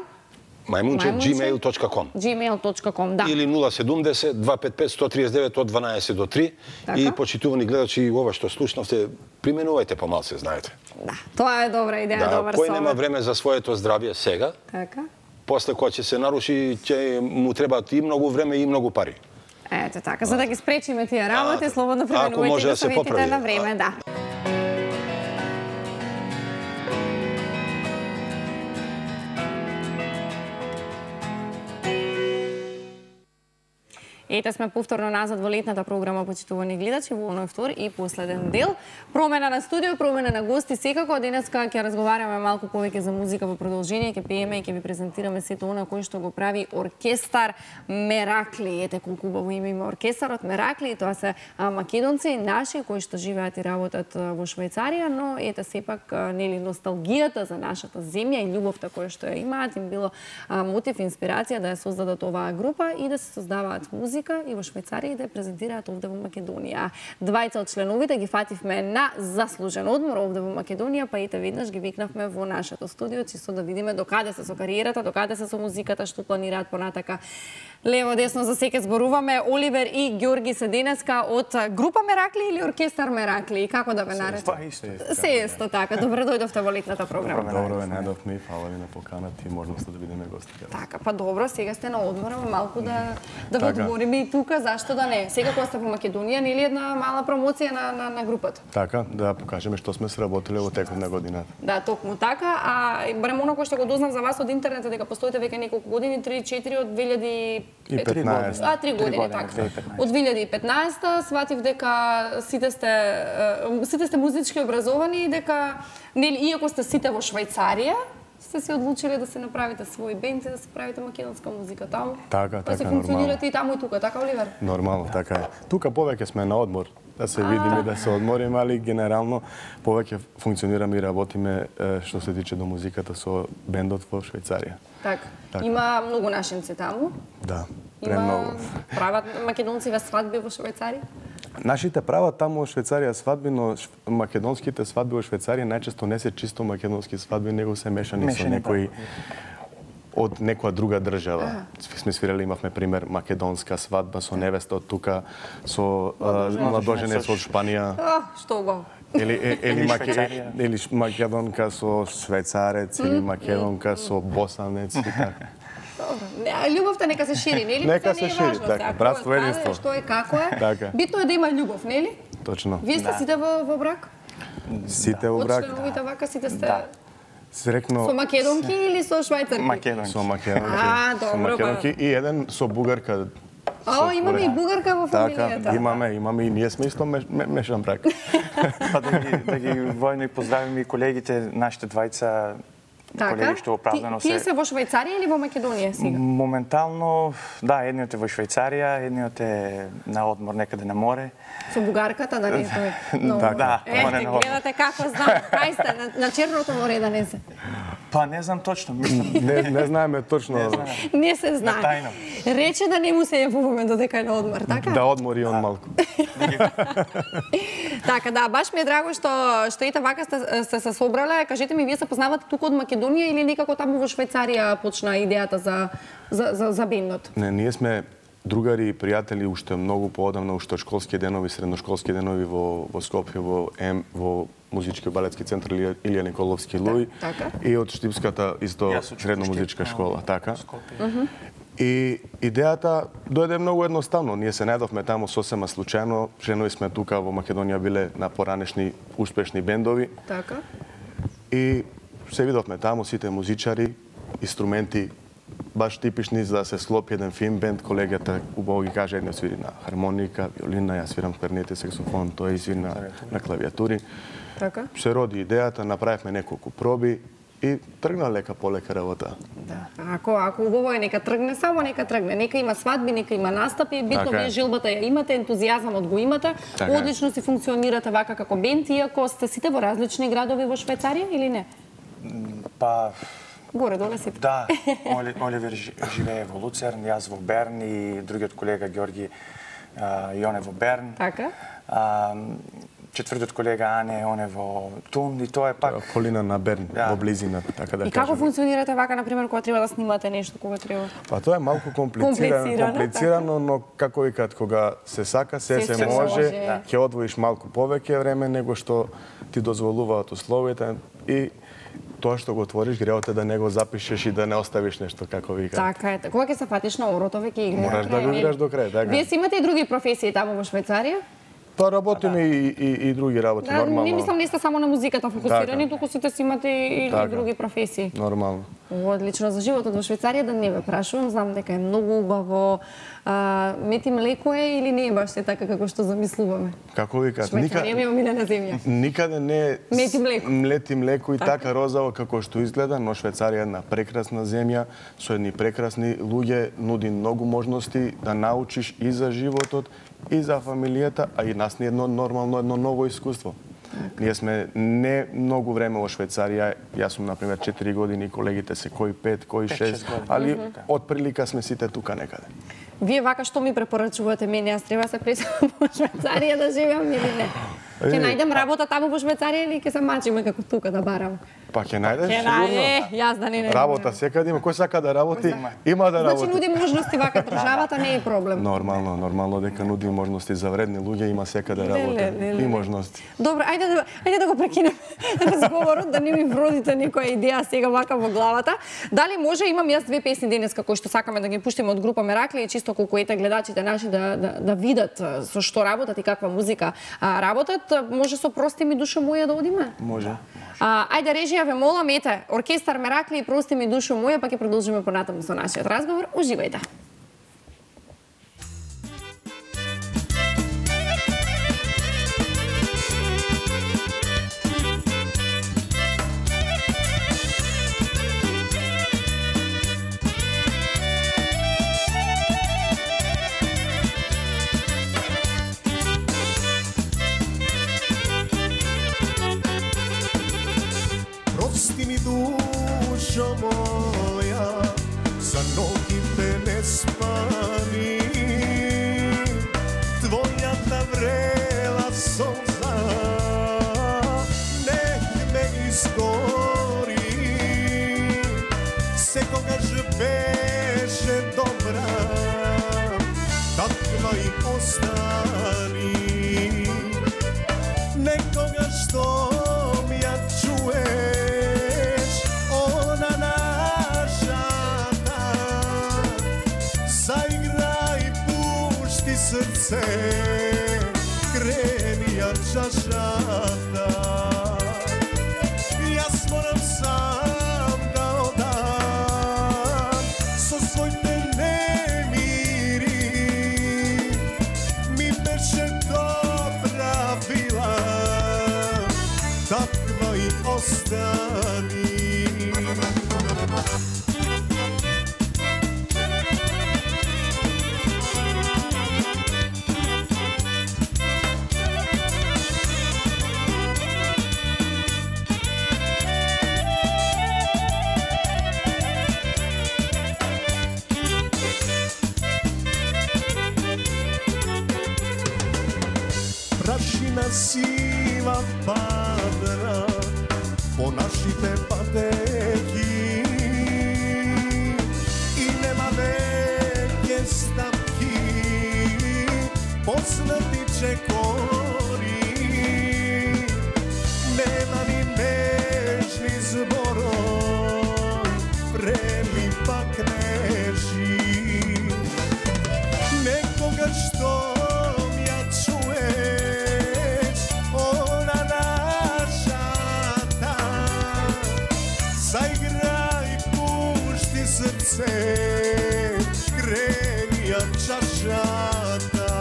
Мајмунче@gmail.com. Gmail.com, да. Или 070-255-139 од 12 до 3. И почитувани гледачи, ова што слушнавте, применувајте помалце, знаете. Да, тоа е добра идеја, добар совет. Кој нема време за своето здравје сега, така, после кога ќе се наруши, ќе му требаат и многу време и многу пари. Ето така, за да ги спречиме тие работи, слободно пременувајте го советите на време, да. Ете сме повторно назад во летната програма, почитувани гледачи, во оној втор и последен дел. Промена на студио, промена на гости, секако. Денеска ќе разговараме малку повеќе за музика во продолжение, ќе пееме и ќе ви презентираме сето она кој што го прави оркестар Меракли. Ете колку убаво име има оркестарот Меракли, тоа се македонци, наши, кои што живеат и работат во Швајцарија, но ете сепак нели носталгијата за нашата земја и љубовта која што ја имаат им било мотив, инспирација да ја создадат оваа група и да се создаваат музика и во Швајцарија и да ја презентираат овде во Македонија. Двајца од членовите ги фативме на заслужен одмор овде во Македонија, па ете веднаш ги викнавме во нашето студио, чисто да видиме докаде се со кариерата, докаде се со музиката, што планираат понатака. Лево, десно за секој зборуваме. Оливер и Ѓорги се денеска од група Меракли или оркестар Меракли? Како да ве наречам? Па исто. Се исто така. Добре дојдовте во летната програма. Добро ве најдовме и фала ви на поканата и можноста да бидеме гости. Така, па добро, сега сте на одмора, малку да ви одмориме и тука, зашто да не? Сега кога сте во Македонија, нели една мала промоција на групата? Така, да покажеме што сме сработиле во текот на годината. Да, токму така. А барем оно кој што го дознав за вас од интернет дека постоите веќе неколку години, 3-4 од 2015. 3 години, така. Од 2015 сватив дека сите сте музички образовани и дека нели иако сте сите во Швајцарија, сте се одлучиле да се направите свој бенд и да се правите македонска музика таму. Така, па се нормално. функционирате и таму и тука, така Оливер? Нормално, така е. Тука повеќе сме на одмор, да се видиме, да се одмориме, али генерално повеќе функционираме и работиме што се тиче до музиката со бендот во Швајцарија. Така. Има многу нашинци таму? Да, премногу. Прават македонци свадби во Швајцарија? Нашите прават таму во Швајцарија свадби, но македонските свадби во Швајцарија најчесто не се чисто македонски свадби, него се мешани со некои од некоја друга држава. Сме свирали, имавме пример македонска свадба со невеста од тука, со младоженец од Шпанија. Што убаво. Или македонка со швајцарец, или македонка со босанец и така. Љубовта нека се шири, нели? Нека се шири, така. Братство, единство. Што е, како е. Така. Битно е да има љубов, нели? Точно. Вие сте сите во брак? Сите во брак. Од членовите вака сите сте... Срекно... Со македонки или со швајцарки? Македонки. Со македонки. Добро. Со македонки и еден со бугарка. Имаме и бугарка во фамилијата. Така, имаме и ние сме исто мешан брак. Па да ги војно и поздравим и колегите, нашите двајца колеги што оправдано се... Тие се во Швајцарија или во Македонија сега? Моментално, да, едниот е во Швајцарија, едниот е на одмор некаде на море. Со бугарката да не стои. Да, море на одмор. Гледате како знам, кај сте, на Черното море да не се. Па не знам точно, мислам. Не знаеме точно. Не се знае. Тајно. Рече да не му се јавуваме додека е на одмор, така? Да одмори он малку. Така, да, баш ми е драго што ете вака сте се собрале. Кажете ми, вие се познавате тука од Македонија или некако таму во Швајцарија почна идејата за бендот? Не, ние сме другари и пријатели уште многу поодамна, уште од школски денови, средношколски денови во Скопје, во музички балетски центар Илија Николовски Луј и од Штипската исто средно музичка школа, така. И идејата дојде многу едноставно. Ние се најдовме таму сосема случајно, женови сме тука во Македонија биле на поранешни успешни бендови. Така. И се видовме таму сите музичари, инструменти баш типични за да се склопи еден фин бенд. Колегата убаво ги каже, едниот свири на хармоника, виолина, јас свирам кларнет, саксофон, тој свири на клавиатури. Така. Се роди идејата, направивме неколку проби и тргна лека полека работа. Да. Ако убаво е, нека тргне, само нека тргне. Нека има свадби, нека има настапи, битно вие желбата ја имате, ентузијазмот го имате, одлично си функционирате вака како бенд, иако сте сите во различни градови во Швајцарија или не? Па горе доле сите. Да, Оливер живее во Луцерн, јас во Берн и другиот колега Ѓорги и он е во Берн. Така. Четвртиот колега Ане, он е во Тун и тоа е пак околина на Берн, во близина, така да кажем. И како функционирате вака, например, кога треба да снимате нешто, кога треба? Па тоа е малку комплицирано, но како викаат, кога се сака, се може, ќе одвоиш малку повеќе време него што ти дозволуваат условите и тоа што го отвориш, греот е да не го запишеш и да не оставиш нешто, како ви кажат. Така е. Кога ќе се фатиш на орото, веќе играеш. Мораш да го играш до крај, така. Вие си имате и други професии таму во Швајцарија? Па работиме и други работи, нормално. Не мислам не сте само на музиката фокусирани, туку сите си имате и други професии. Нормално. Одлично. За животот во Швајцарија да не ве прашувам, знам дека е многу убаво. Мети млеко е или не е баш така како што замислуваме? Како ви кажат, Швајцарија ми е омилена земја. Никаде не е млети млеко и така розово како што изгледа, но Швајцарија е една прекрасна земја со едни прекрасни луѓе, нуди многу можности да научиш и за животот, и за фамилијата, а и нас ни едно нормално, едно ново искуство. Ние сме не многу време во Швајцарија, јас сум например 4 години, колегите се кои 5, кои 6, али од прилика сме сите тука некаде. Вие вака што ми препорачувате мене, јас треба се преселам во Швајцарија да живеам или не? Ќе најдем работа таму во Швајцарија или ќе се мачиме како тука да барам? Па ќе најдеш сигурно. Јас да не. Работа секаде има, кој сака да работи, има да работи. Значи нуди можности вака државата, не е проблем. Нормално дека нуди можности за вредни луѓе, има секаде работа и можности. Добро, ајде да го прекинеме разговорот, да не ми вродите некоја идеја сега вака во главата. Дали може, имам јас две песни денеска кои што сакаме да ги пуштиме од група Меракли и чисто колку ете гледачите наши да видат со што работат и каква музика работат. Може со Прости ми душо моја да одиме? Може. Ајде режија ве молам, ете, оркестар Меракли и Прости ми душо моја, па ќе продолжиме понатаму со нашиот разговор. Уживајте. Прости ми душо моја, за ногите не спани, твојата врела солза нек ме изгори, секогаш беше добра, таква и остани, некогаш што ја чуеш, она нашата, заиграј, пушти срце, крени ја чашата. Јас морам сам да одам со своите немири, ми беше добра вила, таква и остани. Prašina сива падна по нашите патеки и нема веќе стапки, поснати чекори, нема ни нежни зборој, преми пак нежи, некогаш што ја чуеш, она нашата, заиграј, пушти срце, крени ја чашата.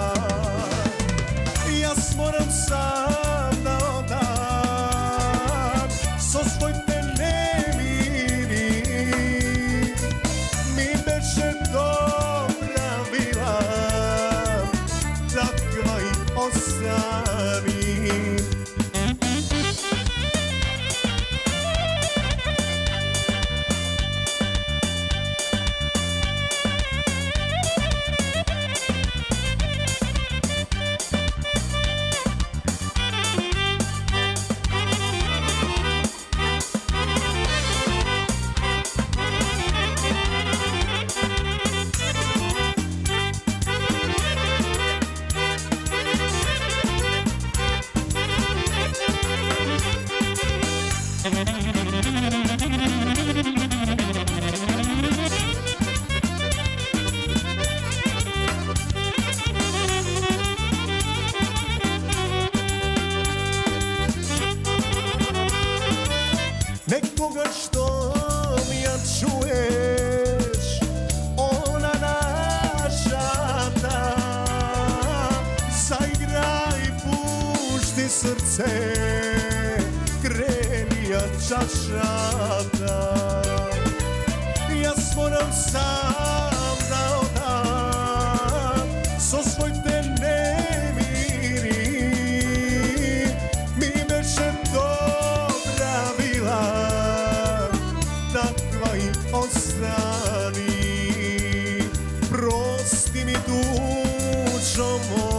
Јас морам сам да одам со своите немири, ми беше добра вила, таква и остани. koga što mi ja čuješ, ona naša ta. Zaigraj, pušti srce, kreni ja čašata. Jas moram sam da odam, so svoj te nemiri. Mi beše dobra bila, takva i ostani. Prosti mi dušo moja.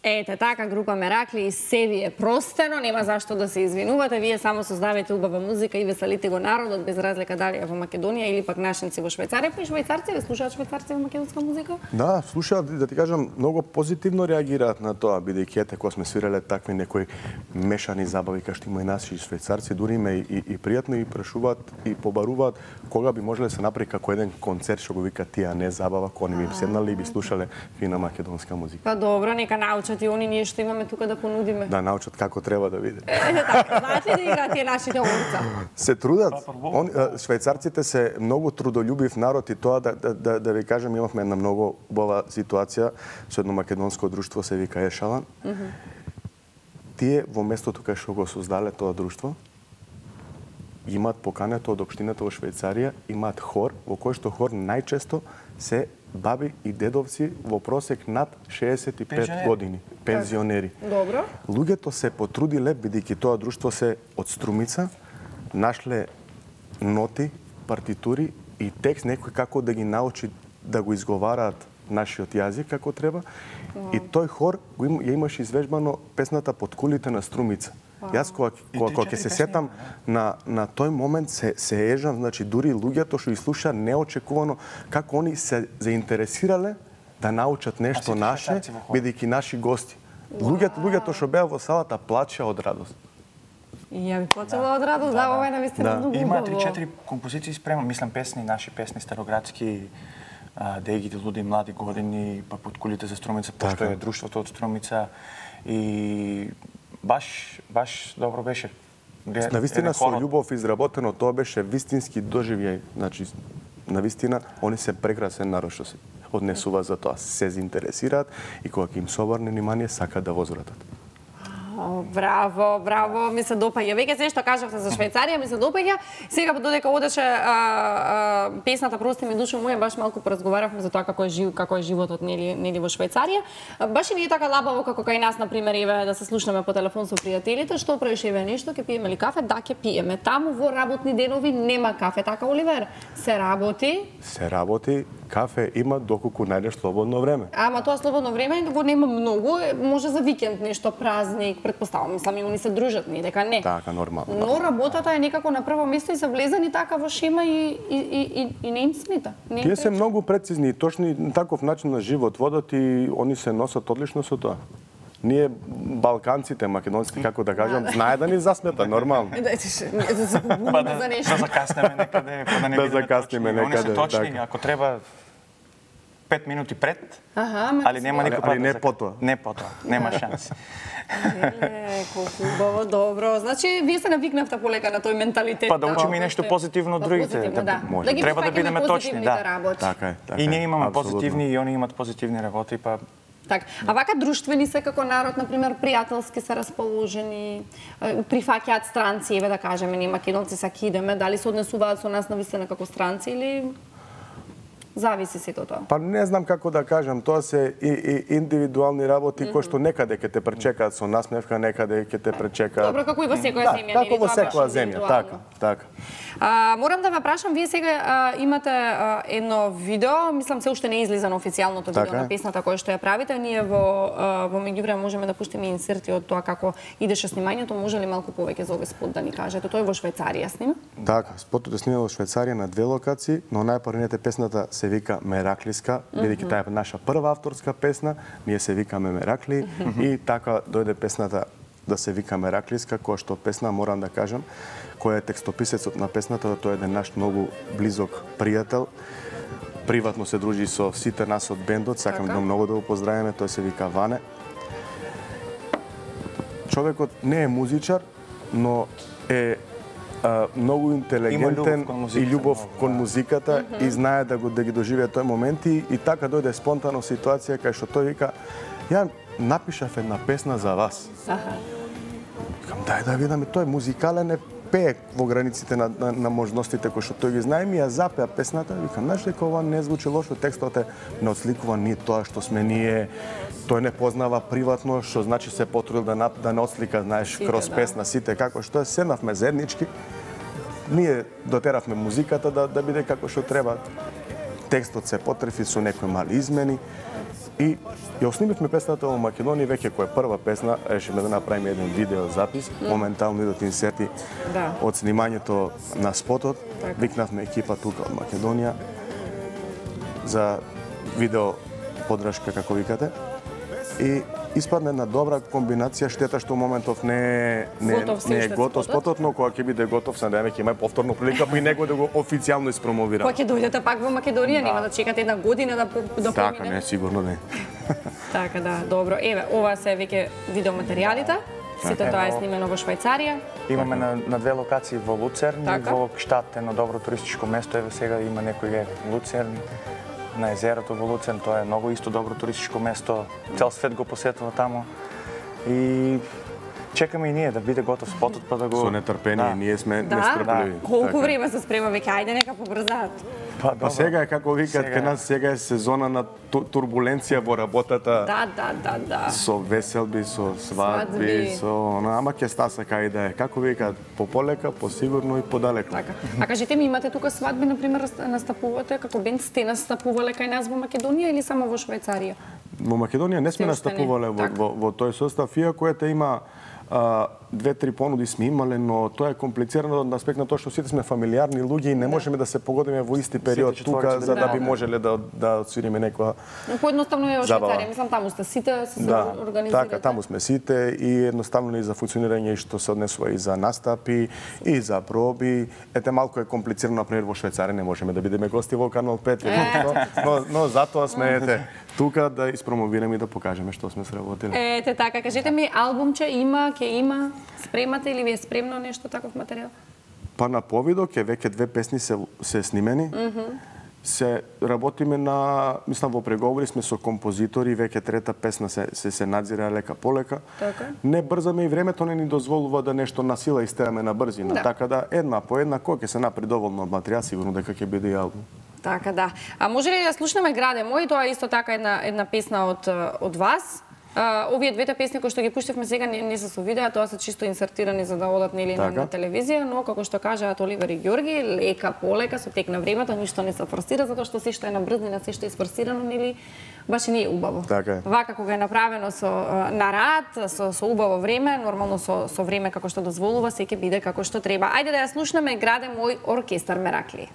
Ете, така група Меракли и се ви е простено, нема зашто да се извинувате, вие само создавате убава музика и веселите го народот, без разлика дали е во Македонија или пак нашинци во Швајцарија. Па и швајцарци, ве слушаат швајцарци во македонска музика? Да, слушаат, да ти кажам, многу позитивно реагираат на тоа, бидејќи ете кога сме свиреле такви некои мешани забави кај што има и наши швајцарци, дури ме и пријатно и прашуваат и побаруваат кога би можеле да се направи како еден концерт што го вика тие не забава, кога не би седнале и би слушале фина македонска музика. Па добро, нека научат и они ние што имаме тука да понудиме. Да научат како треба да видат. Така, знаат ли да играат тие нашите орца? Се трудат. Швајцарците се многу трудолюбив народ и тоа да ви кажам, имавме една многу убава ситуација со едно македонско друштво се вика Ешалан. Тие во местото кај што го создале тоа друштво имаат покането од општината во Швајцарија, имаат хор во кој што хор најчесто се баби и дедовци во просек над 65 години, пензионери. Добро. Луѓето се потрудиле, бидејќи тоа друштво се од Струмица, нашле ноти, партитури и текст некој како да ги научи да го изговараат нашиот јазик како треба. И тој хор ја имаше извежбано песната Под кулите на Струмица. Јас кога ќе се сетам на тој момент се ежам, значи дури луѓето што слуша неочекувано како они се заинтересирале да научат нешто наше, бидејќи наши гости. Луѓето што беа во салата плачеа од радост. И ја би плачела од радост, да, ова е навистина многу убаво. Има 3-4 композиции спремам, мислам песни, наши песни староградски, Дегите луди млади години, па Под кулите за Струмица, пошто е друштвото од Струмица и баш добро беше. Навистина со љубов изработено, тоа беше вистински доживеј. Значи, навистина, они се прекрасен народ што се однесува за тоа. Се заинтересираат и кога ќе им се обрне внимание, сакаат да возвратат. Браво, браво, ми се допаѓа. Веќе се што кажавте за Швајцарија, ми се допаѓа. Сега додека одеше песната Прости ми душо моја, баш малку поразговаравме за тоа како е животот нели во Швајцарија. Баш и ми е така лабаво како кај нас на пример еве да се слушнеме по телефон со пријателите, што правиш еве нешто, ќе пиеме ли кафе? Да, ќе пиеме. Таму во работни денови нема кафе, така Оливер? Се работи? Се работи, кафе има доколку најдеш слободно време. Ама тоа слободно време го нема многу, може за викенд нешто, празник, предпоставам, мислам и они се дружат, не дека не. Така, нормално. Но работата е некако на прво место и се влезани така во шема и не им смета. Тие се многу прецизни и точни, таков начин на живот водат и они се носат одлично со тоа. Ние балканците, македонците, како да кажам, знае да ни засмета, нормално. Да се побунеме за нешто. Да закаснеме некаде, па да не бидеме точни. Они се точни, ако треба 5 минути пред, али нема никој али не потоа. Не потоа, нема шанси. Колку убаво, добро. Значи, вие се навикнавте полека на тој менталитет. Па да учиме и нешто позитивно од другите. Треба да бидеме точни, да. Така е. И ние имаме позитивни и они имат позитивни работи, па така. А вака друштвени се како народ, например, пријателски се расположени, прифаќаат странци, еве да кажеме, ние македонци саки идеме, дали се однесуваат со нас навистина како странци или зависи сето тоа? Па не знам како да кажам, тоа се и индивидуални работи кои што некаде ќе те пречекаат со насмевка, некаде ќе те пречекаат. Добро, како и во секоја земја, како во секоја земја, така. Морам да ве прашам, вие сега имате едно видео, мислам се уште не е излизано официјалното видео на песната која што ја правите. Ние во меѓувреме можеме да пуштиме инсерти од тоа како идеше снимањето. Може ли малку повеќе за овој спот да ни кажете? Тој е во Швајцарија снима? Така, спотот е снима во Швајцарија на 2 локации, но најпрвината песната се вика Мераклиска, бидејќи таа е наша прва авторска песна, ние се викаме Меракли и така дојде песната да се вика Мераклиска, која што песна морам да кажам, кој е текстописецот на песната, тој е еден наш многу близок пријател. Приватно се дружи со сите нас од бендот, сакам да многу да го поздравиме, тој се вика Ване. човекот не е музичар, но е многу интелигентен и љубов кон музиката и знае да ги доживее тој момент и така дојде спонтано ситуација кај што тој вика ја напишав една песна за вас. Викам дај да видам, тој музикален е, пее во границите на можностите кои што тој ги знае, ми ја запеа песната, викам знаеш дека ова не звучи лошо, текстот не отсликува ни тоа што сме ние, тој не познава приватно, што значи се потрудил да не отслика, знаеш, кроз песна сите како што е, седнавме заеднички, ние дотеравме музиката да биде како што треба. Текстот се потрефи со некои мали измени и ја оснимивме песната во Македонија веќе која е прва песна, решиме да направиме еден видео запис, моментално идат инсерти од снимањето на спотот, викнавме екипа тука од Македонија за видео подршка како викате и испадна една добра комбинација, штета што моментов не е готов спотот, но кога ќе биде готов, се надеваме ќе има повторно прилика па и него да го официјално испромовира. Кога ќе дојдете пак во Македонија, нема да чекате една година да помине. Така, не, сигурно не. Така да, добро. Еве, ова се веќе видеоматеријалите. Сите тоа е снимено во Швајцарија. Имаме на две локации во Луцерн и во Кштат, едно добро туристичко место. Еве сега има некој Луцерн на езерото во Луцерн, тоа е многу исто добро туристичко место. Цел свет го посетува таму. И чекаме и ние да биде готов спотот па да го со нетрпение, ние сме нестрпливи. Колку време се спрема веќе, ајде нека побрзаат. Па сега е како викаат кај нас, сега е сезона на турбуленција во работата. Да. Со веселби, со свадби, со ама ќе стаса кај да е. Како викаат, пополека, посигурно и подалеку. Така. А кажете ми, имате тука свадби, например, настапувате како бенд, сте настапувале кај нас во Македонија или само во Швајцарија? Во Македонија не сме настапувале во тој состав, иако има 2-3 понуди сме имале, но тоа е комплицирано од аспект на тоа што сите сме фамилиарни луѓе и не можеме да се погодиме во исти период тука за да би можеле да отсвириме некоја поедноставно е во Швајцарија, мислам таму сте сите се организирате. Така, таму сме сите и едноставно и за функционирање што се однесува и за настапи и за проби. Ете малку е комплицирано, например во Швајцарија не можеме да бидеме гости во Канал 5, но затоа сме тука да испромовираме и да покажеме што сме сработили. Ете така, кажете ми, албумче има, ќе има, спремате или ви е спремно нешто таков материјал? Па на повидок е веќе 2 песни се снимени. Се работиме на, мислам во преговори сме со композитори, веќе 3-та песна се надзира лека полека. Така. Не брзаме и времето не ни дозволува да нешто на сила истераме на брзина. Така да една по една кога ќе се направи доволно материјал, сигурно дека ќе биде и албум. Така да. А може ли да слушнеме Граде мој, тоа е исто така една песна од вас? Овие двете песни кои што ги пуштивме сега не се со видео, тоа се чисто инсертирани за да одат нели на телевизија, но како што кажаат Оливер и Ѓорги, лека полека со тек на времето, ништо не се форсира затоа што се што е на брзнина, се што е сфорсирано нели баш и не е убаво. Така е. Вака кога е направено на рад, со убаво време, нормално со време како што дозволува, се ќе биде како што треба. Ајде да ја слушнеме Граде мој оркестар Меракли.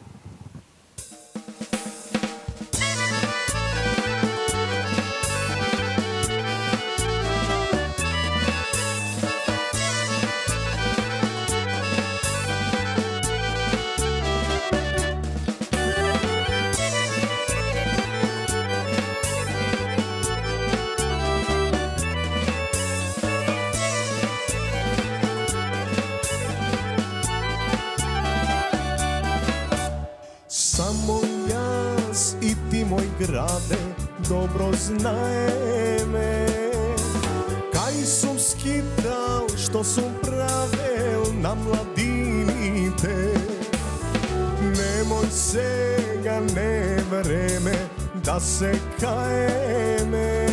Граде, добро знаеме, кај сум скитал, што сум правел на младините. Немој сега, не време да се каеме,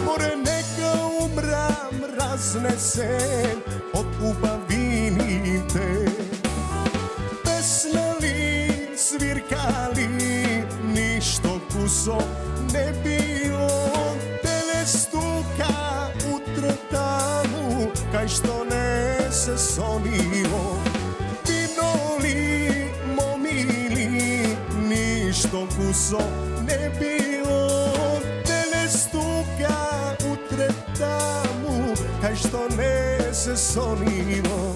море нека умрам разнесен од убавините. Песнали, свиркали, ништо кусо не било, теле стука утре таму, кај што не се сонило. Пиноли, момили, ништо кусо не било, теле стука утре таму, кај што не се сонило.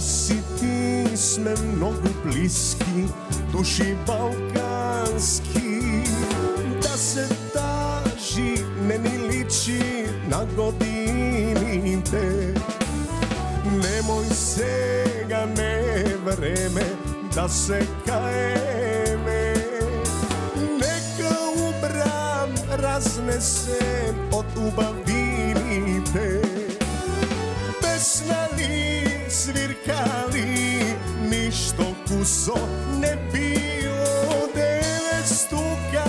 Јас и ти сме многу блиски, души балкански. Да се тажи не ни личи на годините. Немој сега, не е време да се каеме. Нека убрам разнесен од убавините. Песнали, свиркали, ништо кусо не било. Девет стука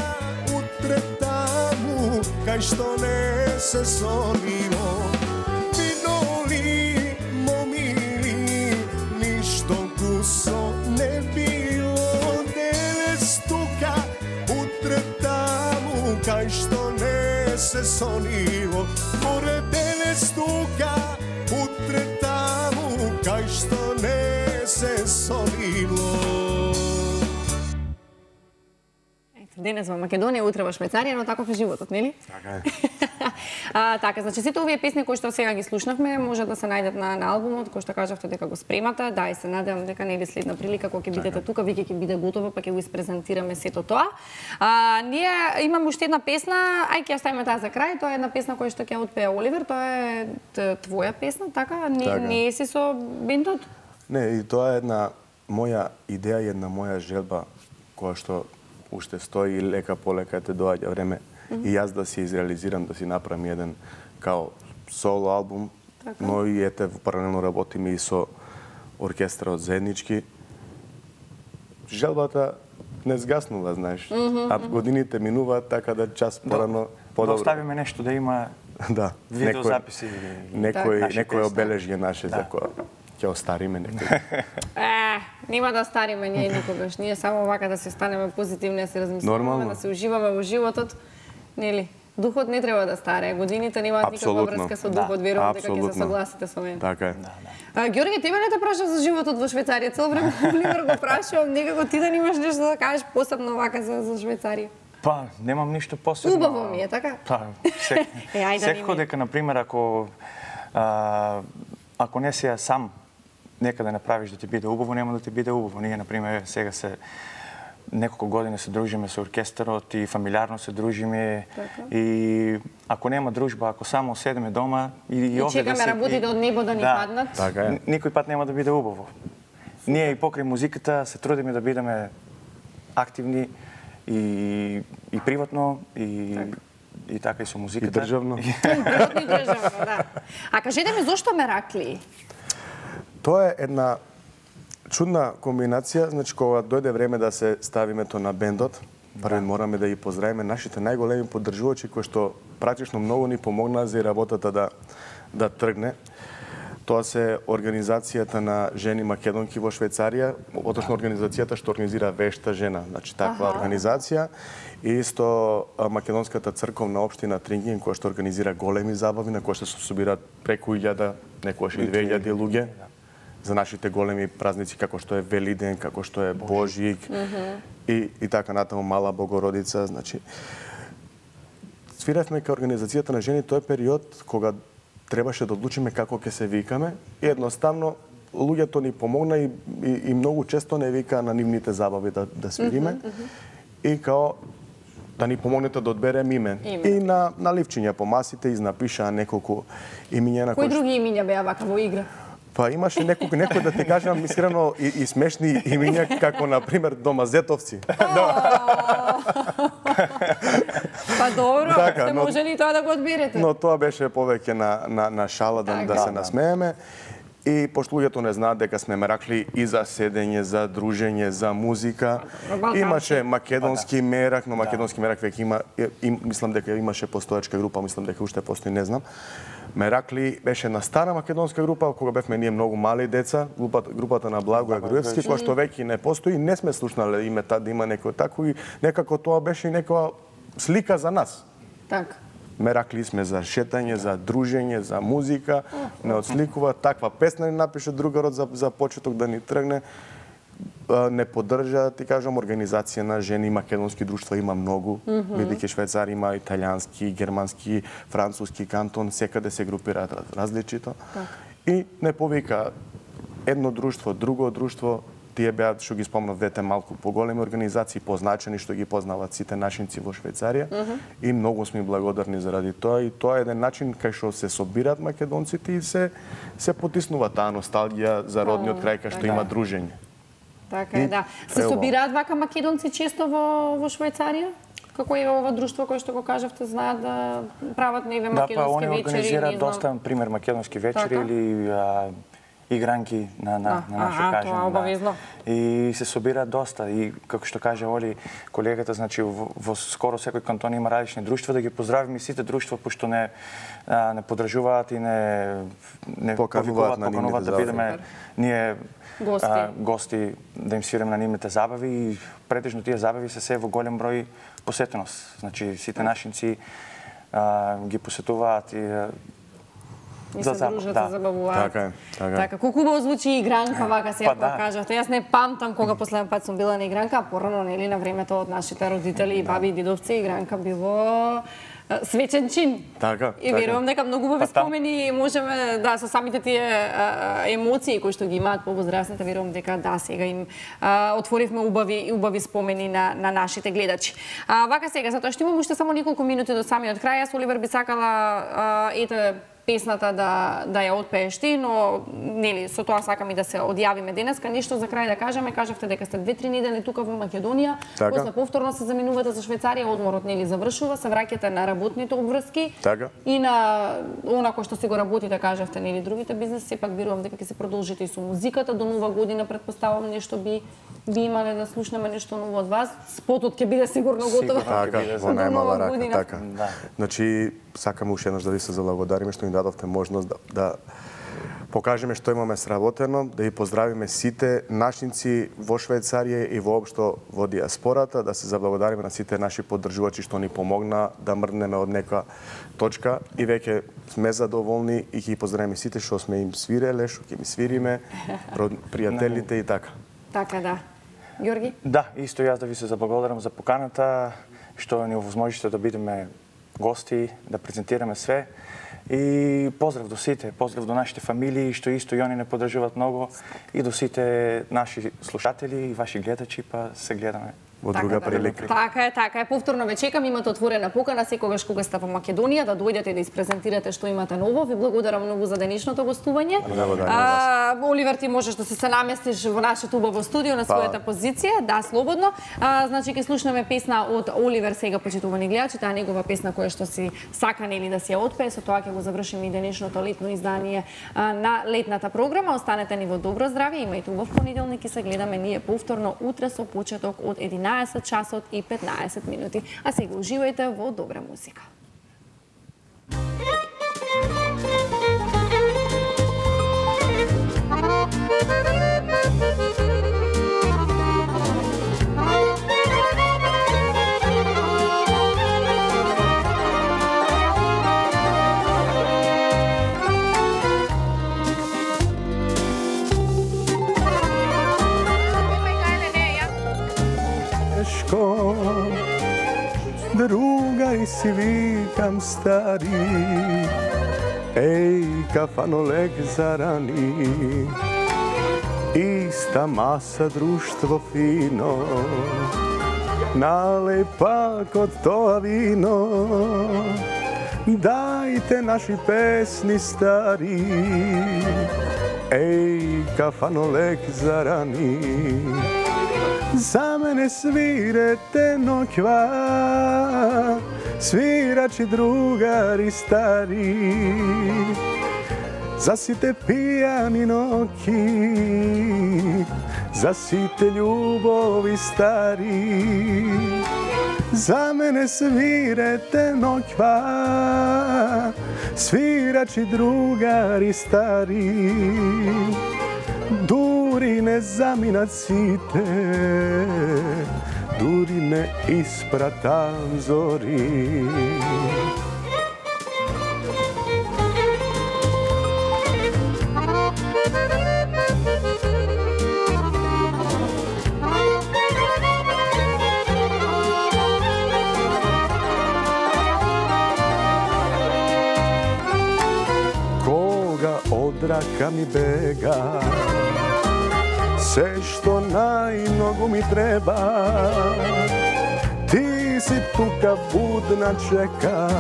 утре таму, кај што не се сонило. Миноли, момили, ништо кусо не било. Девет стука утре таму, кај што не се сонило. Горе девет стука утре таму, кај што не се сонило. Денес во Македонија, утре во Швајцарија, но таков е животот, нели? Така е. Така, значи сите овие песни кои што сега ги слушнавме може да се најдат на албумот, кој што кажавте дека го спремате. Да, и се надевам дека нели следна прилика кога ќе бидете тука, веќе ќе биде готово, па ќе го испрезентираме сето тоа. Ние имаме уште една песна, ај ќе ја ставиме таа за крај. Тоа е една песна која што ќе отпее Оливер, тоа е твоја песна, така? Не си со бендот? Не, и тоа е една моја идеја и една моја желба која што уште стои и лека полека те доаѓа време и јас да си изреализирам, да си направам еден као соло албум, но и ете паралелно работиме и со оркестрот заеднички. Желбата не згаснува, знаеш, а годините минуваат така да час порано подобро. Да оставиме нешто да има видеозаписи. Некој обележје наше за која ќе остариме некој. Нема да остариме ние никогаш. Ние само вака да се станеме позитивни, да се размислуваме, да се уживаме во животот. Нели? Духот не треба да старее. Годините немаат никаква врска со духот. Верувам дека ќе се согласите со мене. Така е. Ѓорѓе, тебе не те прашав за животот во Швајцарија. Цело време Оливер го прашувам. Некако ти да немаш нешто да кажеш посебно вака за Швајцарија. Па, немам ништо посебно. Убаво ми е, така? Па, секако дека, например, ако не си сам некаде направиш да ти биде убаво, нема да ти биде убаво. Ние, например, сега се неколку години се дружиме со оркестрот и фамилиарно се дружиме. И ако нема дружба, ако само седеме дома и овде да чекаме работите од небо да ни паднат, никој пат нема да биде убаво. Ние и покрај музиката се трудиме да бидеме активни и приватно и така и со музиката. И државно. И државно, да. А кажете ми, зошто Меракли? Тоа е една чудна комбинација, значи кога дојде време да се стави името на бендот, прво мораме да ги поздравиме нашите најголеми поддржувачи кои што практично многу ни помогнаа за работата да тргне. Тоа се организацијата на жени македонки во Швајцарија, отошно организацијата што организира Вешта жена, значи таква организација. И исто македонската црковна општина Трингин која што организира големи забави на кои што се собираат преку 1000, некогаш и 2000 луѓе за нашите големи празници како што е Велиден, како што е Божик и така натаму Мала Богородица, значи свиравме кај организацијата на жени тој период кога требаше да одлучиме како ќе се викаме и едноставно луѓето ни помогна и многу често не викаа на нивните забави да свириме и као да ни помогнете да одберем име. И на ливчиња по масите изнапишаа неколку имиња на кои други имиња беа вака во игра? Па имаше некој да те кажам искрено и смешни имиња како на пример Домазетовци. Па добро, сте можели и тоа да го одберете. Но тоа беше повеќе на шала да се насмееме. И пошто луѓето не знаат дека сме Меракли и за седење, за дружење, за музика. Имаше македонски мерак, но македонски мерак веќе има, мислам дека имаше постоечка група, мислам дека уште постои, не знам. Меракли беше на стара македонска група, кога бевме ние многу мали деца, групата на Благоја Груевски, која што веќе не постои, не сме слушнале име да има некој тако и некако тоа беше некоја слика за нас. Така. Меракли сме за шетање, за дружење, за музика, не отсликува таква песна ни напише другарот за почеток да ни тргне. Не поддржа, ти кажам, организација на жени, македонски друштва има многу, бидејќи Швајцарија има италијански, германски, француски кантон, секаде се групираат различито. И не повика едно друштво, друго друштво, тие беа, што ги спомнав, двете малку поголеми организации, позначени, што ги познават сите нашинци во Швајцарија. И многу сме благодарни заради тоа. И тоа е еден начин кај што се собираат македонците и се потиснува таа носталгија за родниот крај кај што има дружење. Така е, да. Се собираат вака македонци често во Швајцарија? Како е ова друштво кој што го кажавте, знаат да прават некои македонски вечери? Да, па они организираат доста, пример, македонски вечери или игранки на наше кажење. Тоа обавезно. И се собираат доста. И како што каже Оли, колегата, значи во скоро секој кантон има различни друштва, да ги поздравиме сите друштва, пошто не поддржуваат и не покануваат да бидеме ние гости, да им свиреме на нивните забави. И претежно тие забави се во голем број посетеност. Значи сите нашинци ги посетуваат и се дружат, се забавуваат. Така. Колку убаво звучи игранка, вака сега кажавте. Јас не памтам кога последен пат сум била на игранка, а порано, нели, на времето од нашите родители и баби и дидовци, игранка било свечен чин. Така. И верувам дека многу убави спомени можеме, да, со самите тие емоции кои што ги имаат повозрасните, верувам дека да, сега им отворивме убави спомени на нашите гледачи. Вака сега, затоа што имам уште само неколку минути до самиот крај, јас, Оливер, би сакала песната да ја отпееш ти, но нели со тоа сакам и да се одјавиме денеска. Нешто за крај да кажеме, кажавте дека сте 2-3 недели тука во Македонија, после повторно се заминувате за Швајцарија, одморот нели завршува, се враќате на работните обврски и на она кој што си го работите, кажавте, нели другите бизнеси, сепак верувам дека ќе се продолжите и со музиката до нова година, претпоставувам нешто би имале да слушнеме нешто ново од вас. Спотот ќе биде сигурно готово. Така, во најмала рака, така. Значи, сакам уште еднаш да ви се заблагодариме што ни дадовте можност да покажеме што имаме сработено, да ги поздравиме сите нашинци во Швајцарија и воопшто во диаспората, да се заблагодариме на сите наши поддржувачи што ни помогна да мрднеме од нека точка и веќе сме задоволни и ќе поздравиме сите што сме им свиреле, што ќе ми свириме, пријателите и така. Така, да. Ѓорги? Да, исто јас да ви се заблагодарам за поканата, што ни овозможите да бидеме гости, да презентираме све. И поздрав до сите, поздрав до нашите фамилии, што исто и они не поддржуваат многу, и до сите наши слушатели и ваши гледачи, па се гледаме во друга прилика. Така е. Повторно ве чекам, имате отворена покана секогаш кога сте во Македонија да дојдете да испрезентирате што имате ново. Ви благодарам многу за денешното гостување. Оливер, ти можеш да се наместиш во нашето убаво студио на својата позиција, да, слободно. Значи ќе слушнеме песна од Оливер сега, почитувани гледачи, таа негова песна која што си сака нели да си ја отпее, со тоа ќе го завршиме и денешното летно издание на летната програма. Останете ни во добро здравје, имајте убав понеделник и се гледаме ние повторно утре со почеток од 11 часот и 15 минути. А сега уживајте во добра музика. Другај си викам стари, еј кафанолек зарани, иста маса, друштво фино, налеј пак од тоа вино, дајте наши песни стари, еј кафанолек зарани. За мене свирете ноќва, свирачи другари стари, за сите пијани ноќи, за сите љубови стари. За мене свирете ноќва, свирачи другари стари, дури не заминат сите, дури не испратам зори. рака ми бега. Се што најмногу ми треба, ти си тука будна чекаш.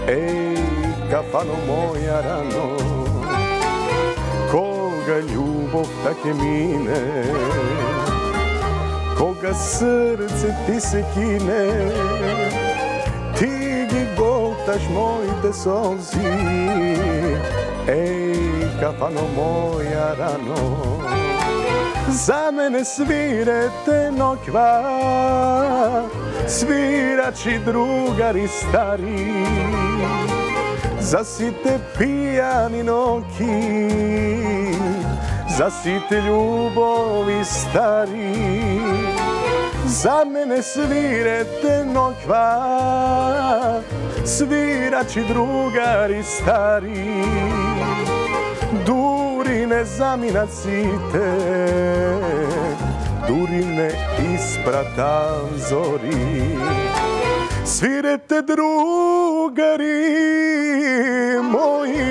Еј, кафано моја рано, кога љубовта ќе мине, кога срце ти се кине, ти ги голташ моите солзи. Еј, кафано моја рано, за мене свирете ноќва, свирачи другари стари, за сите пијани ноќи, за сите љубови стари. За мене свирете ноќва, свирачи другари стари, дури не заминат сите, дури не испратам зори. Свирете другари мои,